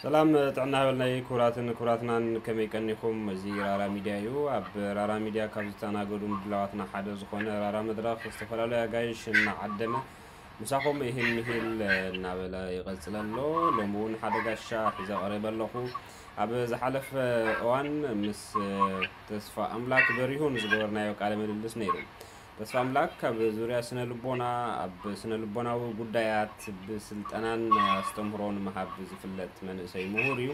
ሰላም ጥዕና ይበልናይ ክቡራትን ክቡራትናን፣ ከመይ ቀኒኹም? እዚ ራራ ሚድያ እዩ። ኣብ ራራ ሚድያ ካብ ዝተኣናገዱ ምድላዋትና ሓደ ዝኾነ ራራ መድረኽ ዝተፈላለዩ ኣጋይሽ እናዓደመ ምሳኹም ይህል ምሂል እናበለ ይቐጽል ኣሎ። ሎሚ እውን ሓደ ጋሻ ሒዘ ቀሪበ ኣለኹ። ኣብ ዝሓለፈ እዋን ምስ ተስፋ ኣምላክ በሪሁን ዝገበርናዮ ቃለ ምልልስ ነይሩ። ተስፋ ኣምላክ ኣብ ዙርያ ስነ ልቦና፣ ኣብ ስነ ልቦናዊ ጉዳያት ብስልጠናን ኣስተምህሮን ምሃብ ዝፍለጥ መንእሰይ ምሁር እዩ።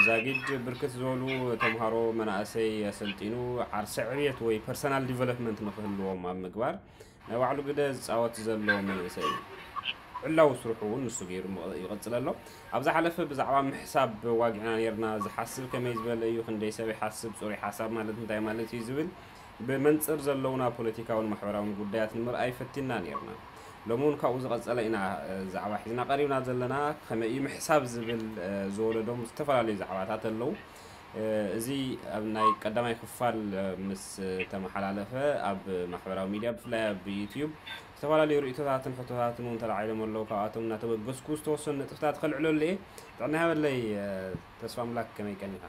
ዛጊድ ብርክት ዝበሉ ተምሃሮ መናእሰይ ኣሰልጢኑ ዓርሰ ዕብየት ወይ ፐርሰናል ዲቨሎፕመንት ንክህልዎም ኣብ ምግባር ናይ ባዕሉ ግደ ዝፃወት ዘሎ መንእሰይ እዩ። ዕላዊ ስርሑ እውን ንሱ ገይሩ ይቐፅል ኣሎ። ኣብ ዝሓለፈ ብዛዕባ ምሕሳብ ዋጊዕና ነይርና። ዝሓስብ ከመይ ዝበለ እዩ? ክንደይ ሰብ ይሓስብ? ፅሩይ ሓሳብ ማለት እንታይ ማለት እዩ ዝብል ብመንፅር ዘለውና ፖለቲካውን ማሕበራውን ጉዳያት ንምርኣይ ፈቲና ነይርና። ሎሚ እውን ካብኡ ዝቐፀለ ኢና ዛዕባ ሒዝና ቀሪብና ዘለና። ከመይ እዩ ምሕሳብ ዝብል ዝወለዶም ዝተፈላለዩ ዛዕባታት ኣለዉ። እዚ ኣብ ናይ ቀዳማይ ክፋል ምስ ተመሓላለፈ ኣብ ማሕበራዊ ሚድያ ብፍላይ ኣብ ዩትዩብ ዝተፈላለዩ ርእቶታትን ሕቶታትን እውን ተላዒሎም ኣለዉ። ካብኣቶም እናተበገስኩ ዝተወሰኑ ነጥብታት ከልዕለሉ እየ። ጥዕና ይሃበለይ ተስፋ ኣምላክ፣ ከመይ ቀኒኻ?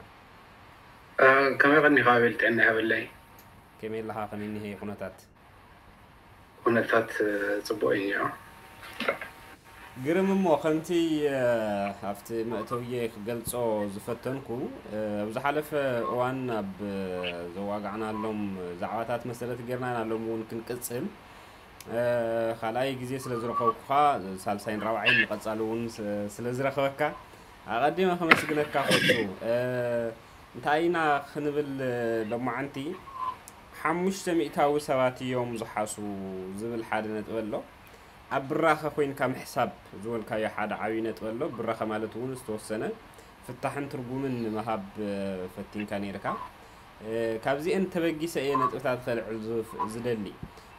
ከመይ ቀኒኻ ኣቤል? ጥዕና ይሃበለይ። ከመይ ኣለኻ? ከመይ እኒሀ ኩነታት? ኩነታት ፅቡቅ እዩ። ግርም እሞ ከምቲ ኣብቲ መእተውየ ክገልጾ ዝፈተንኩ፣ ኣብ ዝሓለፈ እዋን ኣብ ዘዋጋዕናሎም ዛዕባታት መሰረት ጌርና ኢና ሎም እውን ክንቅጽል። ካልኣይ ግዜ ስለ ዝረኸብኩኻ፣ ሳልሳይን ራብዓይን ንቐጻሊ እውን ስለ ዝረኸበካ ኣቐዲመ ከመስግነካ ፈቱ። እንታይ ኢና ክንብል ሎማዓንቲ? ሓሙሽተ ሚእታዊ ሰባት እዮም ዝሓሱ ዝብል ሓደ ነጥቢ ኣሎ። ኣብ ብራኸ ኮይንካ ምሕሳብ ዝበልካዮ ሓደ ዓብዪ ነጥቢ ኣሎ። ብራኸ ማለት እውን ዝተወሰነ ፍታሕን ትርጉምን ንምሃብ ፈቲንካ ነይርካ። ካብዚአን ተበጊሰ እየ ነጥብታት ከልዕል ዝደሊ።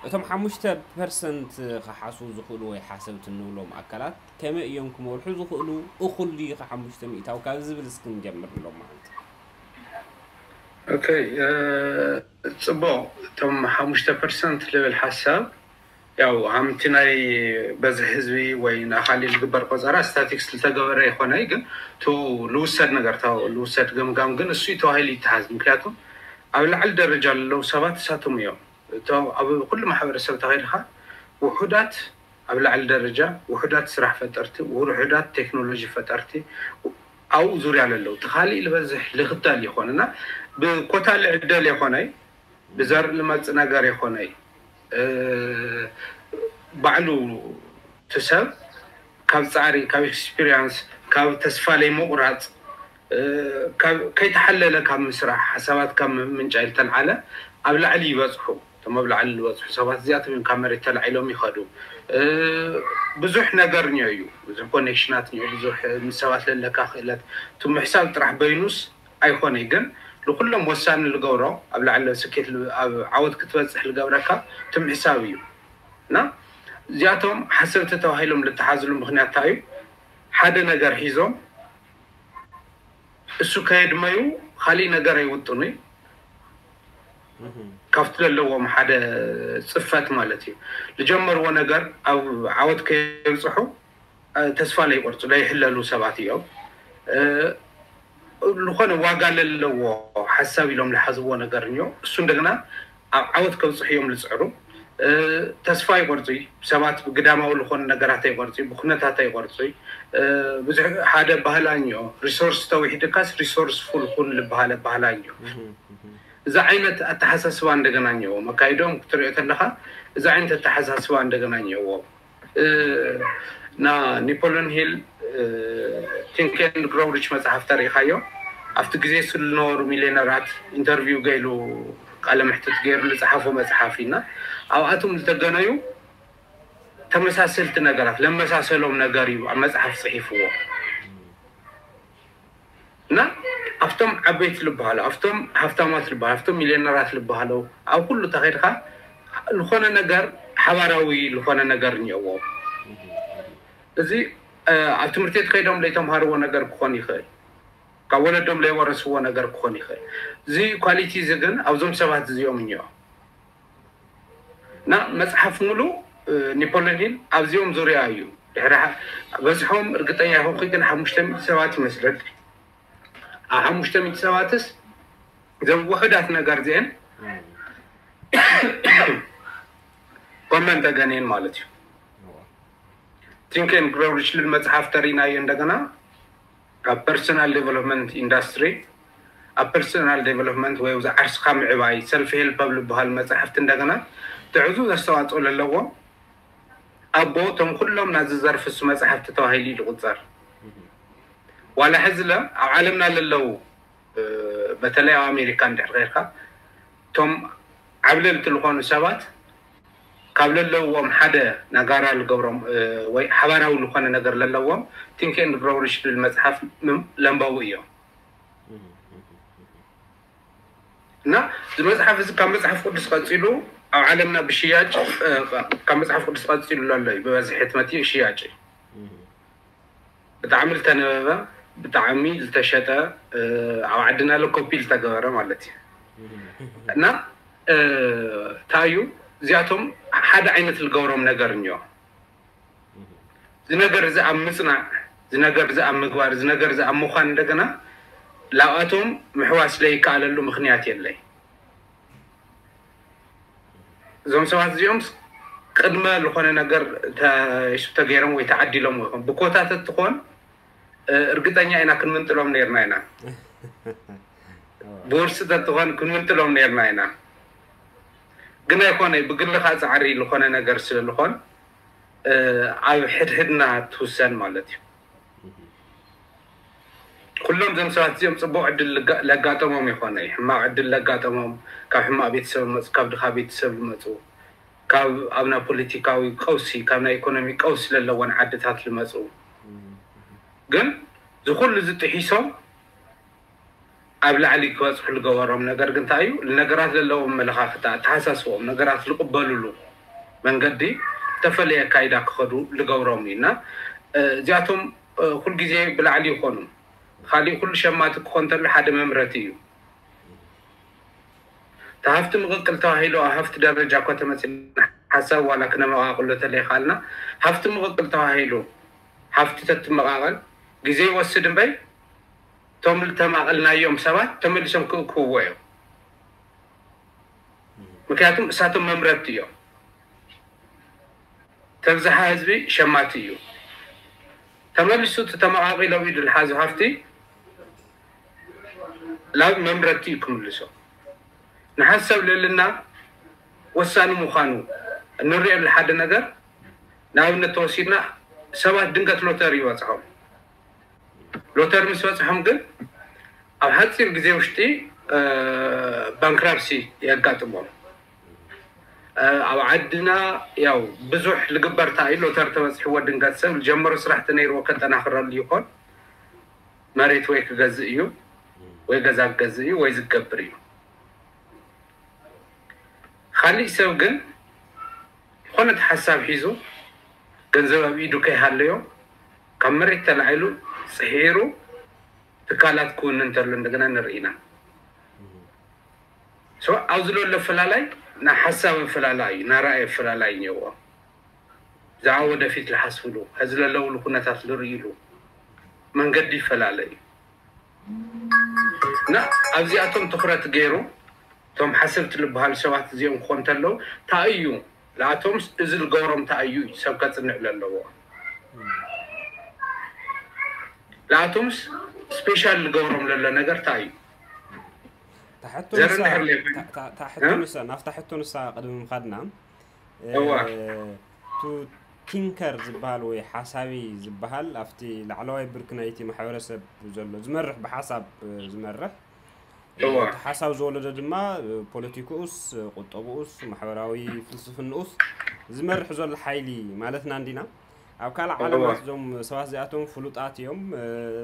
እቶም ሓሙሽተ ፐርሰንት ክሓሱ ዝኽእሉ ወይ ሓሰብቲ እንብሎም ኣካላት ከመይ እዮም ክመርሑ ዝኽእሉ? እኹል ድዩ ሓሙሽተ ሚእታዊ ካብ ዝብል እስኪ ንጀምር ንሎም ማለት። ኦኬ፣ ፅቡቅ። እቶም ሓሙሽተ ፐርሰንት ልብል ሓሳብ ያው ሃምቲ ናይ በዝሒ ህዝቢ ወይ ንኣኻሊ ዝግበር ቆፀራ ስታቲክስ ዝተገበረ ይኾነ፣ ግን ቱ ልውሰድ ነገር ታ ልውሰድ ገምጋም ግን እሱ ተባሂሉ ይተሃዝ። ምክንያቱም ኣብ ላዕሊ ደረጃ ለለዉ ሰባት እሳቶም እዮም። እቶም ኣብ ኩሉ ማሕበረሰብ ተኸይድካ ውሑዳት ኣብ ላዕሊ ደረጃ ውሑዳት ስራሕ ፈጠርቲ፣ ውሑዳት ቴክኖሎጂ ፈጠርቲ ኣብኡ ዙርያ ለለዉ። እቲ ካሊእ ዝበዝሕ ልኽተል ይኾን እና ብኮታ ልዕደል ይኾነይ ብዘር ልመፅ ነገር ይኾነይ ባዕሉ እቲ ሰብ ካብ ፃዕሪ፣ ካብ ኤክስፒሪንስ፣ ካብ ተስፋ ለይ ምቑራፅ፣ ከይተሓለለ ካብ ምስራሕ፣ ሓሳባት ካብ ምምንጫ ዝተልዓለ ኣብ ላዕሊ ይበፅሑ። እቶም ኣብ ላዕሊ ዝበፅሑ ሰባት እዚኣቶም እዮም ካብ መሬት ተላዒሎም ይኸዱ። ብዙሕ ነገር እኒኦ እዩ፣ ብዙሕ ኮኔክሽናት እኒኦ፣ ብዙሕ ምስ ሰባት ለለካ ክእለት። እቲ ምሕሳብ ጥራሕ በይኑስ ኣይኮነይ፣ ግን ንኩሎም ወሳኒ ዝገብሮ ኣብ ላዕሊ ስኬት ኣብ ዓወት ክትበፅሕ ዝገብረካ እቲ ምሕሳብ እዩ። እና እዚኣቶም ሓሰብቲ ተባሂሎም ዝተሓዝሉ ምክንያት እንታይ እዩ? ሓደ ነገር ሒዞም እሱ ከየድመዩ ካሊእ ነገር ኣይውጥኑ እዩ። ካብቲ ዘለዎም ሓደ ፅፈት ማለት እዩ። ዝጀመርዎ ነገር ኣብ ዓወት ከየብፅሑ ተስፋ ለይቆርፁ ለይሕለሉ ሰባት እዮም። ዝኾነ ዋጋ ለለዎ ሓሳብ ኢሎም ዝሓዝዎ ነገር እዮ። እሱ እንደገና ኣብ ዓወት ከብፅሑ እዮም ዝፅዕሩ። ተስፋ ይቆርፁ። ሰባት ብግዳማዊ ዝኾኑ ነገራት ኣይቆርፁ፣ ብኩነታት ኣይቆርፁ። ብዙሕ ሓደ ባህላ እዮ፣ ሪሶርስ ተውሒድካስ ሪሶርስ ፉል ኩን ዝበሃለ ባህላ እዮ። እዚ ዓይነት ኣተሓሳስባ እንደገና እኒኦ መካይዶም ክትሪኦ ተለካ፣ እዚ ዓይነት ኣተሓሳስባ እንደገና እኒኦዎ። ና ኒፖሊዮን ሂል ቲንክ ኤንድ ግሮው ሪች መፅሓፍ ተሪኢኻዮ? ኣብቲ ግዜ እሱ ዝነበሩ ሚሊዮነራት ኢንተርቪው ገይሉ ቃለ መሕትት ገይሩ ዝፀሓፎ መፅሓፍ ኢና። ኣብኣቶም ዝተገነዩ ተመሳሰልቲ ነገራት ለመሳሰሎም ነገር እዩ ኣብ መፅሓፍ ፅሒፍዎ። እና ኣብቶም ዓበይቲ ዝበሃሉ፣ ኣብቶም ሃፍታማት ዝበሃሉ፣ ኣብቶም ሚሊዮነራት ዝበሃሉ፣ ኣብ ኩሉ ተኸይድካ ዝኾነ ነገር ሓባራዊ ዝኾነ ነገር እኒኦዎም። እዚ ኣብ ትምህርቲ ቤት ከይዶም ለይተምሃርዎ ነገር ክኾን ይኽእል፣ ካብ ወለዶም ለይወረስዎ ነገር ክኾን ይኽእል። እዚ ኳሊቲ እዚ ግን ኣብዞም ሰባት እዚኦም እኒኦ። እና መፅሓፍ ሙሉ ኒፖሊዮን ሂል ኣብዚኦም ዙርያ እዩ። ድሕሪ በዝሖም እርግጠኛ ይኹንኩ ግን ሓሙሽተ ሚእቲ ሰባት ይመስለኒ። ኣብ ሓሙሽተ ሚእቲ ሰባትስ እዞም ውሑዳት ነገር እዚአን ኮመን ተገንየን ማለት እዩ። Think and Grow Rich ልብል መፅሓፍ ተሪናዮ እንደገና ኣብ personal development industry ኣብ personal development ወይ ኣብዚ ዓርስኻ ምዕባይ self help ኣብ ዝበሃል መፅሓፍቲ እንደገና ትዕዙ ዘስተዋፅኦ ለለዎ ኣቦ እቶም ኩሎም ናዚ ዘርፍ እሱ መፅሓፍቲ ተባሂሉ እዩ ዝቁፀር። ዋላ ሕዚ ለ ኣብ ዓለምና ለለዉ በተለይ ኣብ ኣሜሪካ እንድሕር ከይርካ እቶም ዓብለልቲ ዝኾኑ ሰባት ካብ ለለዎም ሓደ ነጋራ ልገብሮም ወይ ሓባራዊ ዝኾነ ነገር ለለዎም Think and Grow Rich ዝብል መፅሓፍ ለንበቡ እዮም። እና እዚ መፅሓፍ እዚ ካብ መፅሓፍ ቅዱስ ቀፂሉ ኣብ ዓለምና ብሽያጭ ካብ መፅሓፍ ቅዱስ ቀፂሉ ኣሎ እዩ ብበዝሒ ሕትመት ሽያጭ ብጣዕሚ ዝተነበበ ብጣዕሚ ዝተሸጠ ኣብ ዓድና ለ ኮፒ ዝተገበረ ማለት እዩ። እና እንታይ እዩ እዚኣቶም ሓደ ዓይነት ዝገብሮም ነገር እኒኦ እዚ ነገር እዚ ኣብ ምፅናዕ እዚ ነገር እዚ ኣብ ምግባር እዚ ነገር እዚ ኣብ ምዃን እንደገና ላብኣቶም ምሕዋስ ለይከኣለሉ ምክንያት የለይ። እዞም ሰባት እዚኦም ቅድመ ዝኾነ ነገር ተይሱ ተገይሮም ወይ ተዓዲሎም ይኹን ብኮታ ተትኾን እርግጠኛ ኢና ክንምንጥሎም ነርና ኢና። ብውርሲ ተትኾን ክንምንጥሎም ነርና ኢና። ግን ኣይኮነ ብግልኻ ፃዕሪ ዝኾነ ነገር ስለልኾን ኣብ ሕድሕድና ትውሰን ማለት እዩ። ኩሎም እዞም ሰባት እዚኦም ፅቡቅ ዕድል ለጋጠሞም ይኮነ ሕማቅ ዕድል ለጋጠሞም ካብ ሕማቅ ቤተሰብ መፁ ካብ ድኻ ቤተሰብ ዝመፁ ካብ ኣብና ፖለቲካዊ ቀውሲ ካብ ናይ ኢኮኖሚ ቀውሲ ለለዎን ዓድታት ዝመፁ ግን ዝኩሉ ዝጥሒሶም ኣብ ላዕሊ ክበፅሑ ዝገበሮም ነገር ግን እንታይ እዩ? ንነገራት ዘለዎም ኣመለኻኽታ፣ ኣተሓሳስቦኦም፣ ነገራት ዝቕበሉሉ መንገዲ ዝተፈለየ ኣካይዳ ክኸዱ ዝገብሮም እዩ እና እዚኣቶም ኩልግዜ ብላዕሊ ይኾኑ። ካሊእ ኩሉ ሸማቲ ክኾን ተሎ ሓደ መምረቲ እዩ። እቲ ሃፍቲ ምቕቅል ተባሂሉ ኣብ ሃፍቲ ደረጃ እኳ ተመፂና ሓሳብ ዋላ ክነመቓቕሎ ተለይኻልና ሃፍቲ ምቕቅል ተባሂሉ ሃፍቲ ተትመቓቐል ግዜ ይወስድ እምበይ እቶም ዝተማቐልናዮም ሰባት ተመሊሶም ክእክብዎ እዮም። ምክንያቱም እሳቶም መምረቲ እዮም። ተብዝሓ ህዝቢ ሸማቲ እዩ። ተመሊሱ እቲ ተመቓቒሎም ኢዱ ዝሓዙ ሃፍቲ ናብ መምረቲ እዩ ክምልሶ። ንሓሰብ ልዕልና ወሳኒ ምዃኑ እንሪኦ ሓደ ነገር ንኣብነት ተወሲድና ሰባት ድንገት ሎተሪ ይበፅሖም። ሎተር ምስ በፅሖም ግን ኣብ ሓፂር ግዜ ውሽጢ ባንክራፕሲ የጋጥሞም። ኣብ ዓድና ያው ብዙሕ ልግበር እንታይ እዩ ሎተር ተበፅሕዎ ድንገት ሰብ ዝጀመሮ ስራሕ ተነይርዎ ከጠናኽረሉ ይኾን መሬት ወይ ክገዝእ እዩ ወይ ገዛ ክገዝእ እዩ ወይ ዝገብር እዩ። ካሊእ ሰብ ግን ዝኾነት ሓሳብ ሒዙ ገንዘብ ኣብ ኢዱ ከይሃለዮ ካብ መሬት ተላዒሉ ፅሒሩ ትካላት ክውንን እንተሎ እንደገና ንርኢ ኢና። So ኣብዚ ዘሎ ኣፈላላይ ናይ ሓሳብ ኣፈላላይ እዩ፣ ናይ ራእይ ኣፈላላይ እኒአዎ። ብዛዕባ ወደፊት ዝሓስብሉ፣ ሕዚ ዘለውሉ ኩነታት ዝርእይሉ መንገዲ ይፈላለ እዩ። እና ኣብዚኣቶም ትኹረት ገይሩ እቶም ሓሰብቲ ዝበሃሉ ሰባት እዚኦም ክኾኑ እንተለዉ እንታይ እዩ ንኣቶምስ እዚ ዝገብሮም እንታይ እዩ እዩ ሰብ ከፅንዕ ዘለዎ። ንኣቶምስ ስፔሻል ዝገብሮም ዘሎ ነገር እንታይ እዩ? ታሕቶ ንሳ ናብታ ሕቶ ንሳ ቅድሚ ምኻድና ቱ ቲንከር ዝበሃል ወይ ሓሳቢ ዝበሃል ኣብቲ ላዕለዋይ ብርኪ ናይቲ ማሕበረሰብ ዘሎ ዝመርሕ ብሓሳብ ዝመርሕ እቲ ሓሳብ ዝወለዶ ድማ ፖለቲክኡስ ቁጠብኡስ ማሕበራዊ ፍልስፍንኡስ ዝመርሕ ዘሎ ሓይሊ ማለትና እንዲና። ኣብ ካልእ ዓለማት እዞም ሰባት እዚኣቶም ፍሉጣት እዮም።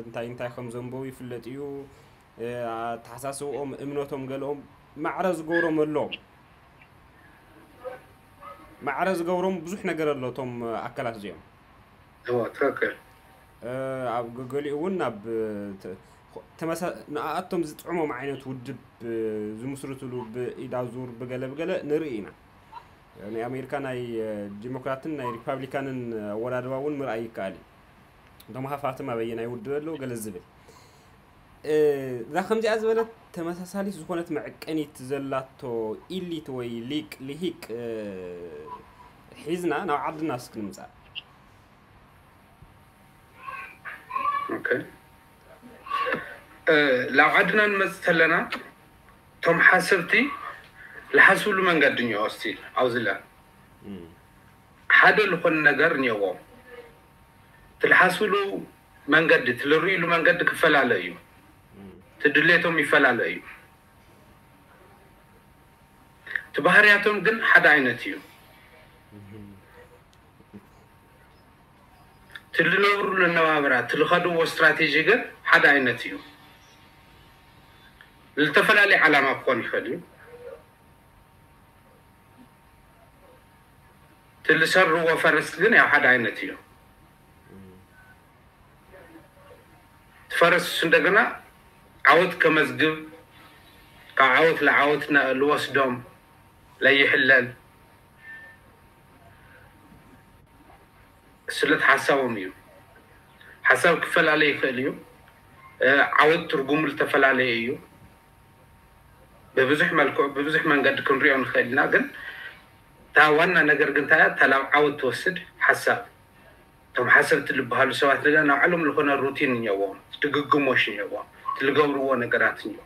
እንታይ እንታይ ከም ዘንበቡ ይፍለጥ እዩ። ኣተሓሳስብኦም እምነቶም ገለኦም ማዕረ ዝገብሮም ኣለዎም። ማዕረ ዝገብሮም ብዙሕ ነገር ኣሎ እቶም ኣካላት እዚኦም። እዋ ትክክል። ኣብ ገሊኡ እውን ናብ ንኣኣቶም ዝጥዕሞም ዓይነት ውድብ ዝምስርትሉ ብኢዳዙር ብገለ ብገለ ንርኢ ኢና። ናይ ኣሜሪካ ናይ ዲሞክራትን ናይ ሪፓብሊካንን ኣወዳድባ እውን ምርኣይ ይከኣል እዩ። እቶም ሃፋትም ኣበየናይ ውድብ ኣለዉ ገለ ዝብል እዛ ከምዚኣ ዝበለት ተመሳሳሊት ዝኾነት መዕቀኒት ዘላቶ ኢሊት ወይ ሊቅ ልሂቅ ሒዝና ናብ ዓድና እስክ ንምፃእ። ላብ ዓድና ንመፅእ ተለና እቶም ሓሰብቲ ዝሓስብሉ መንገዲ እኒኦ ስቲል ኣብዚ ለ ሓደ ዝኾነ ነገር እኒኦዎም ትልሓስብሉ መንገዲ ትልርእሉ መንገዲ ክፈላለ እዩ። ትድሌቶም ይፈላለ እዩ። እቲ ባህርያቶም ግን ሓደ ዓይነት እዩ። ትልነብርሉ ኣነባብራ ትልኸድዎ ስትራቴጂ ግን ሓደ ዓይነት እዩ። ዝተፈላለዩ ዓላማ ክኾን ይኽእል እዩ። ትልሰርዎ ፈረስ ግን ያው ሓደ ዓይነት እዩ። ትፈረስ እንደገና ዓወት ከመዝግብ ካብ ዓወት ለዓወት ልወስዶም ለይሕለል ስለቲ ሓሳቦም እዩ። ሓሳብ ክፈላለ ይኽእል እዩ። ዓወት ትርጉሙ ዝተፈላለየ እዩ። ብብዙሕ መልክዑ ብብዙሕ መንገዲ ክንሪኦ ንኽእል ኢና። ግን እታ ዋና ነገር ግን እንታይ እያ? እታ ላብ ዓወት ትወስድ ሓሳብ። እቶም ሓሰብቲ ዝበሃሉ ሰባት እንደገና ናባዕሎም ዝኾነ ሩቲን እኒኦዎም፣ ድግግሞሽ እኒኦዎም፣ እቲ ዝገብርዎ ነገራት እኒኦ።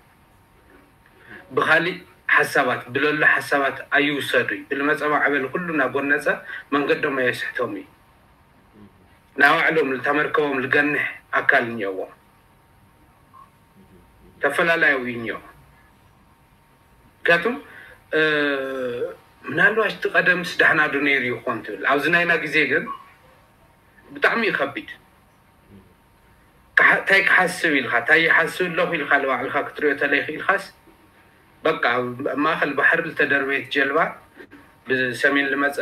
ብኻሊእ ሓሳባት ብለሎ ሓሳባት ኣይውሰዱ እዩ። ብልመፀ ማዕበል ኩሉ እናጎነፀ መንገዶም ኣየስሕቶም እዩ። ናባዕሎም እታ መርከቦም ዝገንሕ ኣካል እኒኦዎም። ተፈላለያዊ እዩ እኒኦ። ምክንያቱም ምናልባሽ እቲ ቀደምስ ዳሕና ዶ ነይሩ ይኾን ትብል። ኣብዚ ናይና ግዜ ግን ብጣዕሚ እዩ ከቢድ። እንታይ ክሓስብ ኢልካ እንታይ ይሓስብ ኣለኹ ኢልካ ንባዕልካ ክትሪኦ ተለይክ ኢልካስ በቃ ኣብ ማእኸል ባሕሪ ዝተደርበየት ጀልባ ብሰሜን ልመፀ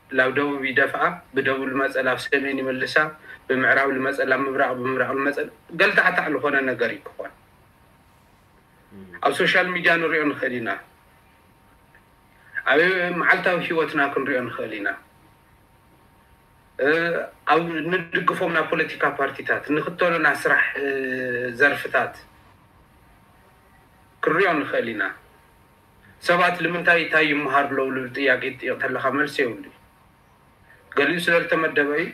ላብ ደቡብ ይደፍኣ፣ ብደቡብ ልመፀ ላብ ሰሜን ይመልሳ፣ ብምዕራብ ልመፀ ላብ ምብራቕ ብምብራቕ ልመፀ ገልታዕታዕ ዝኾነ ነገር እዩ ክኾን። ኣብ ሶሻል ሚድያ ንሪኦ ንኽእል ኢና። ኣብ መዓልታዊ ሂወትና ክንሪኦ ንኽእል ኢና። ኣብ ንድግፎም ናይ ፖለቲካ ፓርቲታት ንኽተሎ ናይ ስራሕ ዘርፍታት ክንሪኦ ንኽእል ኢና። ሰባት ንምንታይ እንታይ ይመሃሩ ኣለዉ ልብል ጥያቄ ትጥይቕ ተለኻ መልሲ የብሉ። ገሊኡ ስለ ዝተመደበ እዩ፣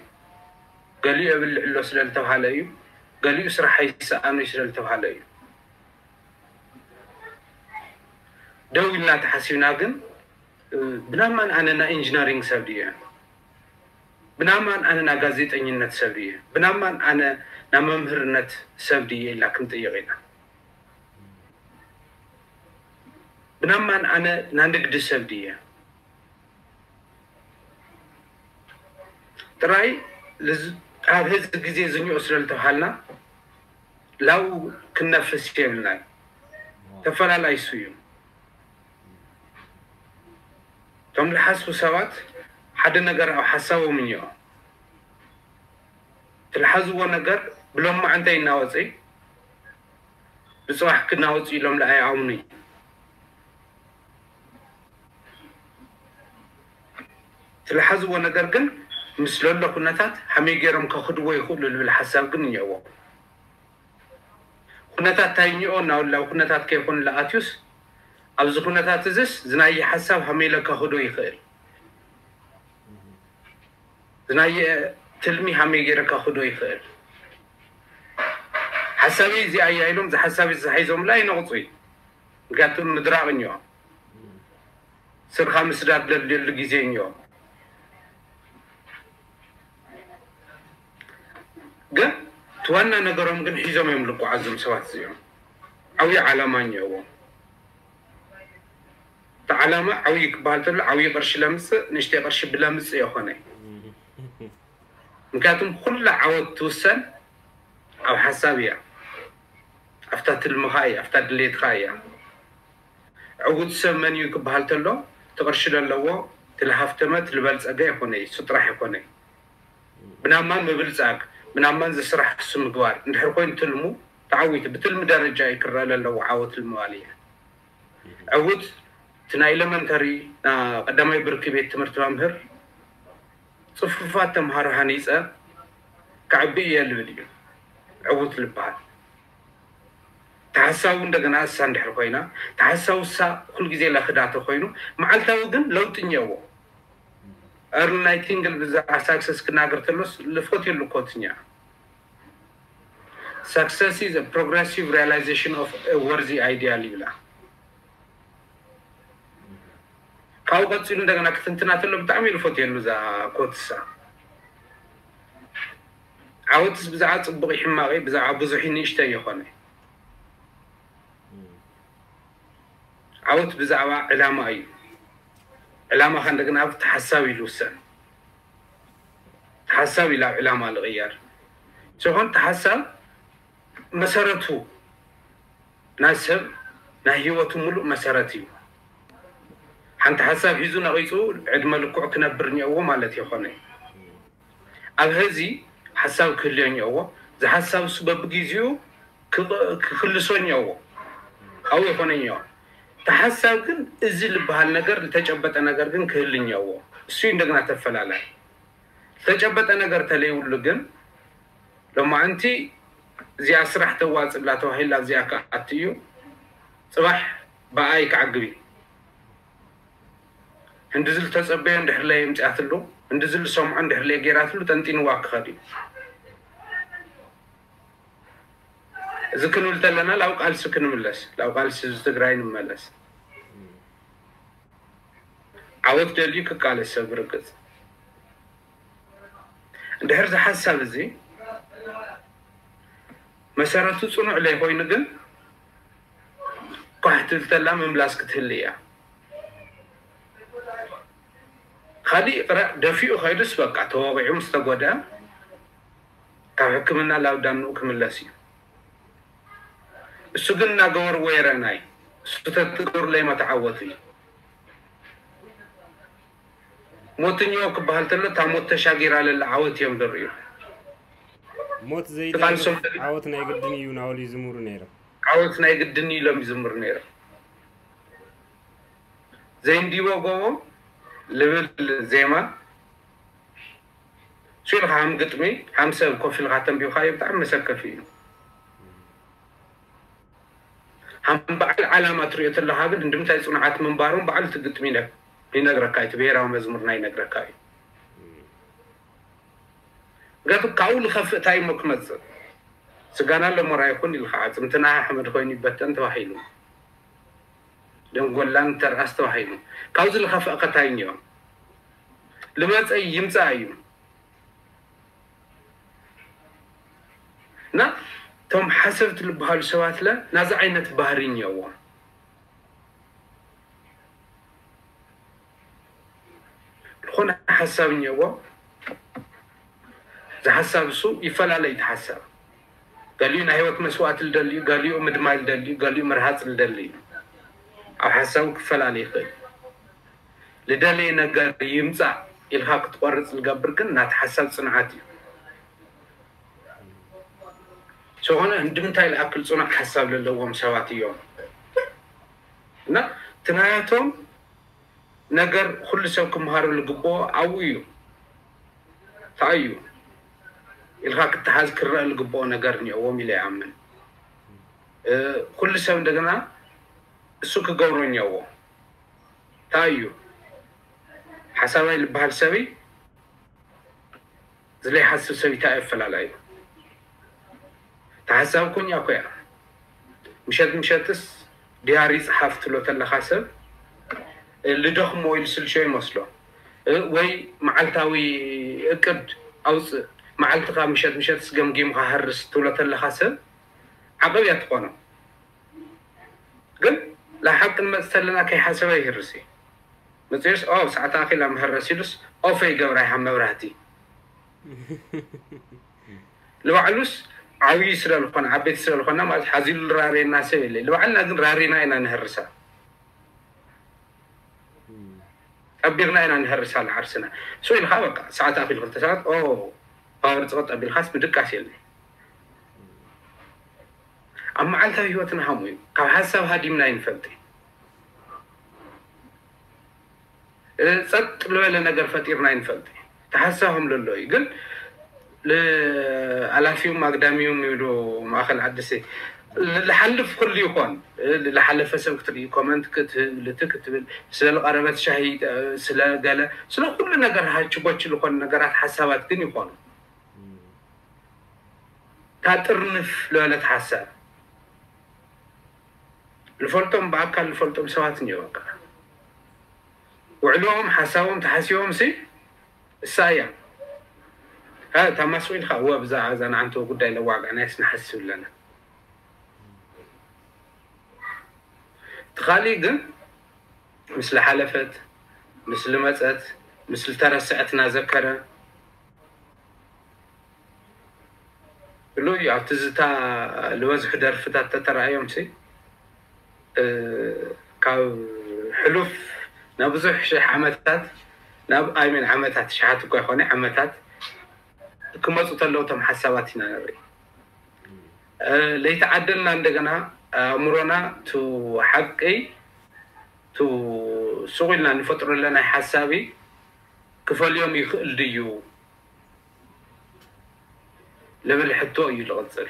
ገሊኡ የብልዕ ኣሎ ስለ ዝተብሃለ እዩ፣ ገሊኡ ስራሕ ኣይሰኣኑ እዩ ስለ ዝተብሃለ እዩ። ደው ኢልና ተሓሲብና ግን ብናማን ኣነ ናይ ኢንጂነሪንግ ሰብ ድየ? ብናማን ኣነ ናይ ጋዜጠኝነት ሰብ ድየ? ብናማን ኣነ ናይ መምህርነት ሰብ ድየ ኢልና ክንጥይቕ ኢና። ብናማን ኣነ ናይ ንግዲ ሰብ ድየ? ጥራይ ኣብ ህዚ ግዜ ዝኒኦ ስለ ዝተብሃልና ላው ክነፍስ የብልናን። ተፈላላይ እሱ እዩ። እቶም ዝሓስቡ ሰባት ሓደ ነገር ኣብ ሓሳቦም እኒኦ። ትልሓዝዎ ነገር ብሎማዕንተ ይናወፅ ብፅባሕ ክናወፅ ኢሎም ለኣይ ኣምኑ ትልሓዝዎ ነገር ግን ምስ ለሎ ኩነታት ሃመይ ገይሮም ከኽድዎ ይኽእሉ ልብል ሓሳብ ግን እኒኦዎ። ኩነታት እንታይ እኒኦ እናበሉ ኣብ ኩነታት ከይኮኑ ለኣትዩስ ኣብዚ ኩነታት እዝስ ዝናየ ሓሳብ ሃመይ ለከኽዶ ይኽእል ዝናየ ትልሚ ሃመይ ገይረ ከኽዶ ይኽእል ሓሳበይ እዚኣ እያ ኢሎም ዝሓሳብ ዝሓይዞምላ ይነቕፁ እዩ። ምክንያቱም ምድራቕ እኒኦ ስርካ ምስዳድ ለድልየሉ ግዜ እኒኦ። ግን እቲ ዋና ነገሮም ግን ሒዞም እዮም ልጓዓዞም ሰባት እዚኦም ዓብዪ ዓላማ እኒኦዎም። እቲ ዓላማ ዓብዪ ክበሃል ተሎ ዓብዪ ቅርሺ ለምፅእ ንእሽተይ ቅርሺ ብለምፅእ የኾነ። ምክንያቱም ኩላ ዓወት ትውሰን ኣብ ሓሳብ እያ። ኣብታ ትልምኻ እያ፣ ኣብታ ድሌትኻ እያ። ዕውት ሰብ መን እዩ ክበሃል ተሎ እቲ ቅርሺ ለለዎ እቲ ልሃፍተመ እቲ ልበልፀገ የኾነ እሱ ጥራሕ የኾነ። ብናማን ምብልፃግ ብናማን ዝስራሕ እሱ ምግባር እንድሕር ኮይኑ ትልሙ ተዓዊቱ ብትልሚ ደረጃ እዩ ክረአ ለለዎ ዓወት ልምባል እየ። ዕውት እቲ ናይ ኤለመንተሪ ቀዳማይ ብርኪ ቤት ትምህርቲ መምህር ጽፉፋት ተምሃሮ ሃኒጸ ክዕቢ እየ ልብል እዩ ዕዉት ልበሃል። ተሓሳቡ እንደገና እሳ እንድሕር ኮይና ተሓሳቡ እሳ ኩልግዜ ለኽዳተ ኮይኑ መዓልታዊ ግን ለውጢ እኒአዎ። እርሊ ናይ ቲንግል ብዛዕባ ሳክሰስ ክናገር ተሎስ ልፎት የሉ ኮትኛ success is a progressive realization of a worthy ideal ይብላ። ካብኡ ቀፂሉ እንደገና ክትንትና ተሎ ብጣዕሚ ልፎት የሉ እዛ ኮትሳ ዓወትስ ብዛዕባ ፅቡቕ ይሕማቕ ብዛዕባ ብዙሕ ንእሽተ ይኾነ ዓወት ብዛዕባ ዕላማ እዩ። ዕላማ ከ እንደገና ተሓሳብ ይልውሰን ተሓሳብ ኢላ ዕላማ ልቕየር ዝኾን ተሓሳብ መሰረቱ ናይ ሰብ ናይ ህይወቱ ሙሉእ መሰረት እዩ። ሓንቲ ሓሳብ ሒዙ ነቒፁ ዕድመ ልክዑ ክነብር እኒኦዎ ማለት ይኾነ ኣብ ህዚ ሓሳብ ክህልዮ እኒኦዎ ዝሓሳብ እሱ በብግዜኡ ክኽልሶ እኒኦዎ ኣብኡ ይኾነ እኒኦ ተሓሳብ ግን እዚ ዝበሃል ነገር ዝተጨበጠ ነገር ግን ክህል እኒኦዎ እሱ እንደገና ተፈላላይ ዝተጨበጠ ነገር ተለይብሉ ግን ሎማዕንቲ እዚኣ ስራሕ ተዋፅላ ተባሂላ እዚኣ ክኣት እዩ ፅባሕ ብኣይ ክዓግብ እዩ እንድዚ ዝተፀበዮ እንድሕር ለየ ምፅኣትሉ እንድዚ ዝሰምዖ እንድሕር ለየ ገይራትሉ ጠንጢንዋ ክኸድ እዩ እዚ ክንብል ተለና ላብ ቃልሲ ክንምለስ ላብ ቃልሲ ህዝቢ ትግራይ ንመለስ ዓወት ደልዩ ክቃለስ ሰብ ርግፅ እንድሕር ዝሓሳብ እዚ መሰረቱ ፅኑዕ ለይኮይኑ ግን ኳሕ ትብል ተላ ምምላስ ክትህል እያ ካሊእ ይቕረ ደፊኡ ከይዱስ በቃ ተወቂዑ ምስ ተጎድአ ካብ ሕክምና ላብ ዳንኡ ክምለስ እዩ እሱ ግን እናገበርዎ የረእናይ እሱ ተትገብርለይ መተዓወቱ እዩ ሞትኛው ክበሃል ተሎ እታ ሞት ተሻጊራ ለላ ዓወት እዮም ዝርእዩ ሞት ዘይደሊ ዓወት ናይ ግድን እዩ ናበሉ ይዝምሩ ነይሮም ዓወት ናይ ግድን ኢሎም ይዝምሩ ነይሮም ዘይንዲቦ ጎቦ ልብል ዜማ ሱ ኢልካ ሃም ግጥሚ ሃም ሰብ ኮፍ ኢልካ ተንቢብካዮ ብጣዕሚ መሰከፊ እዩ ሃም በዓል ዓላማ ትሪኦ ተለካ ግን እንድምታይ ፅኑዓት ምንባሮም በዓሉ እቲ ግጥሚ ይነግረካ እዩ እቲ ብሄራዊ መዝሙርና ይነግረካ እዩ ምክንያቱ ካብኡ ዝኸፍእ እንታይ እሞ ክመፅእ ስጋና ለሞራ ይኹን ኢልካ ኣፅምትና ሓመድ ኮይኑ ይበተን ተባሂሉ ደንጎላን ተርኣስ ተባሂሉ ካብዚ ዝኸፍእ ከታይ እኒኦ ልመፀ ይምፃእ እዩ እና እቶም ሓሰብቲ ዝበሃሉ ሰባት ለ ናዚ ዓይነት ባህሪ እኒኦዎም ዝኾነ ሓሳብ እኒኦዎ ዝሓሳብ እሱ ይፈላለ እዩ ሓሳብ ገሊኡ ናይ ህይወት መስዋእቲ ልደሊ እዩ ገሊኡ ምድማይ ልደሊ እዩ ገሊኡ ምርሃፅ ልደሊ እዩ ኣብ ሓሳቡ ክፈላለ ይኽእል ልደለየ ነገር ይምፃእ ኢልካ ክትቆርፅ ዝገብር ግን ናቲ ሓሳብ ፅንዓት እዩ ዝኾነ እንድምታይ ዝኣክል ፅኑዕ ሓሳብ ዘለዎም ሰባት እዮም እና ትናያቶም ነገር ኩሉ ሰብ ክምሃሮ ዝግብኦ ኣብኡ እዩ እንታይ እዩ ኢልካ ክትሓዝ ክረአ ዝግብኦ ነገር እኒኦዎም ኢለ ይኣምን ኩሉ ሰብ እንደገና እሱ ክገብሮ እኒኦዎ እንታይ እዩ ሓሳባይ ዝበሃል ሰብይ ዝለይሓስብ ሰብ እንታይ ኣፈላላዩ ተሓሳብ ኮኛ ኮያ ምሸት ምሸትስ ዲያሪ ፀሓፍ ትሎ ተለካ ሰብ ልደኽሞ ኢሉ ስልሾ ይመስሎ ወይ መዓልታዊ እቅድ ኣውፅእ መዓልትኻ ምሸት ምሸትስ ገምጊምካ ሃርስ ትብሎ ተለካ ሰብ ዓቐብ እያ ትኾኖ ግን ላሓቂ ንመፅ ተለና ከይሓሰበ ይህርስ እዩ መፅኡስ ኦ ሰዓት ኣኺላ መህረስ ኢሉስ ኦፈ ይገብራ ይሃብ መብራህቲ ንባዕሉስ ዓብዪ ስለዝኾነ ዓበይቲ ስለዝኾና ማለት ሓዚሉ ዝራረየና ሰብ የለ ንባዕልና ግን ራሪና ኢና ንህርሳ ጠቢቕና ኢና ንህርሳ ንዓርስና ሶ ኢልካ በቃ ሰዓት ኣኺሉ ክልተ ሰዓት ኦ ፓወር ፅቕጥ ኣቢልካስ ምድቃስ የለ ኣብ መዓልታዊ ህይወትና ከምኡ እዩ ካብ ሓሳብ ሃዲምና ይንፈልጥ ጸጥ ዝበለ ነገር ፈጢርና ይንፈልጥ። ተሓሳኹም ለሎ እዩ ግን ኣላፊዩም ኣግዳሚዩም ይብሉ ማእኸል ዓድሲ ልሓልፍ ኩሉ ይኾን። ልሓለፈ ሰብ ክትርኢ ኮመንት ክትብል እቲ ክትብል ስለ ልቐረበት ሻሂ ስለ ገለ ስለ ኩሉ ነገር ሃችቦች ልኾኑ ነገራት ሓሳባት ግን ይኾኑ። ታጥርንፍ ለበለት ሓሳብ ልፈልጦም ብኣካል ልፈልጦም ሰባት እኒኦ በቃ ውዕልኦም ሓሳቦም ተሓሲቦም ሲ እሳ እያ። ታማስቁ ኢልካ እወ ብዛዕባ እዛ ንዓንተ ጉዳይ ለዋጋዕናይስ ንሓስብ ኣለና። እቲ ካሊእ ግን ምስ ልሓለፈት ምስ ልመፀት ምስ ልተረስዐት እናዘከረ ብሉይ ኣብ ትዝታ ዝበዝሑ ደርፍታት ተተራእዮም ሲ ካብ ሕሉፍ ናብ ብዙሕ ሽሕ ዓመታት ናብ ኣይሜን ዓመታት ሽሓት እኳ ይኾነ ዓመታት ክመፁ ተለዉ ቶም ሓሳባት ኢና ንርኢ። ለይተዓደልና እንደገና ኣእምሮና ቱ ሓቂ ቱ ሱቕ ኢልና ንፈጥሮ ኣለናይ ሓሳቢ ክፈልዮም ይኽእል ድዩ ልብል ሕቶ እዩ ልቕፅል።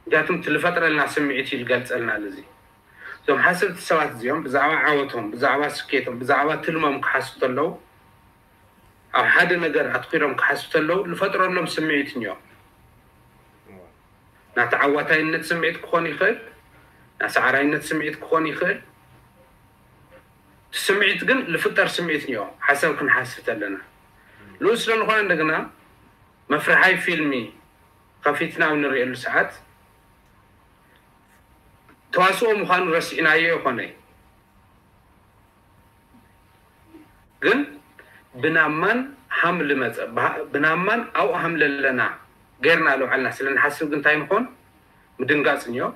ምክንያቱም ትልፈጥረልና ስምዒት እዩ ልገልፀልና ልዚ እዞም ሓሰብቲ ሰባት እዚኦም ብዛዕባ ዓወቶም ብዛዕባ ስኬቶም ብዛዕባ ትልሞም ክሓስቡ ተለዉ ኣብ ሓደ ነገር ኣትኪሮም ክሓስቡ ተለዉ ልፈጥረሎም ስምዒት እኒኦም ናቲ ዓዋታይነት ስምዒት ክኾን ይኽእል ናሰዓራይነት ስምዒት ክኾን ይኽእል ስምዒት ግን ልፍጠር ስምዒት እኒኦ ሓሳብ ክንሓስብ ተለና ንኡ ስለንኾነ እንደገና መፍርሓይ ፊልሚ ከፊትና ኣብ ንርእየሉ ሰዓት ተዋስኦ ምዃኑ ረሲዕናዮ ይኾነ ግን ብናማን ሃም ልመፀ ብናማን ኣብኡ ሃም ለለና ገይርና ለውዓልና ስለ ንሓስብ ግን እንታይ ንኾን ምድንጋፅ እኒኦ